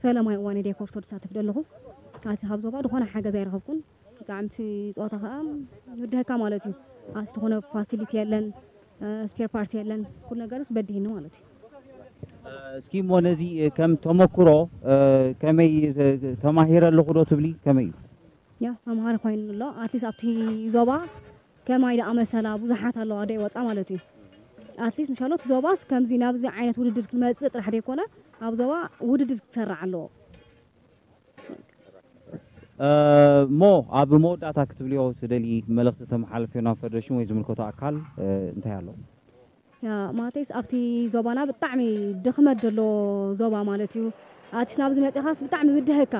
ፈለማይ እዋን ዲኮር ሶ ዝሳተፍ ዘለኹ ኣቲ ካብ ዞባ ዝኾነ ሓገዝ ኣይረኸብኩን። ብጣዕሚ እቲ ፀዋታ ከዓ ብድሀካ ማለት እዩ። ኣቲ ዝኾነ ፋሲሊቲ የለን፣ ስፔር ፓርቲ የለን፣ ኩሉ ነገርስ በዲህኒ ማለት እዩ። እስኪ እሞ ነዚ ከም ተመክሮ ከመይ ተማሂረ ኣለኹ ዶ ትብሊ? ከመይ እዩ? ያ መምሃሪ ኮይኑ ኣሎ። ኣትሊስት ኣብቲ ዞባ ከማይ ደኣ መሰላ ብዙሓት ኣለዋ ዶ ይወፃ ማለት እዩ። ኣትሊስት ምሻሎ እቲ ዞባስ ከምዚ ናብዚ ዓይነት ውድድር ክመፅእ ጥራሕ ዘይኮነ ኣብ ዞባ ውድድር ክሰራዕ ኣለዎ። እሞ ኣብ መወዳእታ ክትብልዮ ትደሊ መልእኽቲ ተመሓላልፍዮ ናብ ፈደሬሽን ወይ ዝምልከቶ ኣካል እንታይ ኣሎ? ያ ማቴስ ኣብቲ ዞባና ብጣዕሚ ድኽመት ዘሎ ዞባ ማለት እዩ። ኣቲስ ናብዚ መፂኻስ ብጣዕሚ ብድሀካ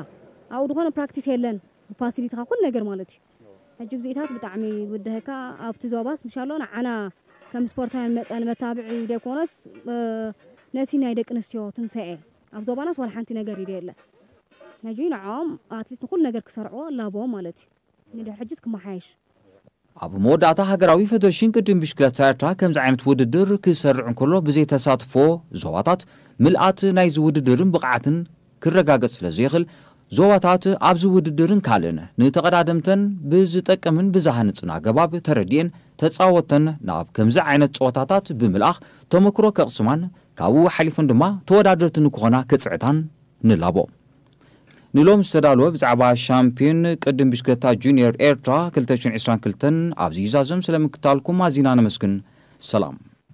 ኣብኡ ዝኾነ ፕራክቲስ የለን፣ ፋሲሊቲኻ ኩሉ ነገር ማለት እዩ። ሕጂ ብዚኢታት ብጣዕሚ ይውድሀካ። ኣብቲ ዞባስ ምሻሎ ንዓና ከም ስፖርታውያን መጠን መታብዒ ዘይኮነስ ነቲ ናይ ደቂ ኣንስትዮ ትንሳኤ ኣብ ዞባናስ ዋላ ሓንቲ ነገር ኢደ የለ። ሕጂ ንዕኦም ኣትሊስት ንኩሉ ነገር ክሰርዕዎ ላቦ ማለት እዩ። ንድሕር ሕጅስ ክመሓየሽ። ኣብ መወዳእታ ሃገራዊ ፌደሬሽን ቅድም ብሽክለታ ኤርትራ ከምዚ ዓይነት ውድድር ክሰርዕ እንከሎ ብዘይ ተሳትፎ ዞባታት ምልኣት ናይዚ ውድድርን ብቕዓትን ክረጋገጽ ስለ ዘይኽእል፣ ዞባታት ኣብዚ ውድድርን ካልእን ንተቐዳደምተን ብዝጠቅምን ብዝሃንጽን ኣገባብ ተረዲኤን ተጻወተን ናብ ከምዚ ዓይነት ጸወታታት ብምልኣኽ ተመክሮ ከቕስማን ካብኡ ሓሊፈን ድማ ተወዳደርቲ ንክኾና ክጽዕታን ንላቦ። ንሎም ዝተዳለወ ብዛዕባ ሻምፒዮን ቅድም ብሽክለታ ጁኒየር ኤርትራ ክልተ ሽሕን ዕስራን ክልተን ኣብዚ ይዛዘም። ስለምክታልኩም ኣዚና ነመስግን። ሰላም።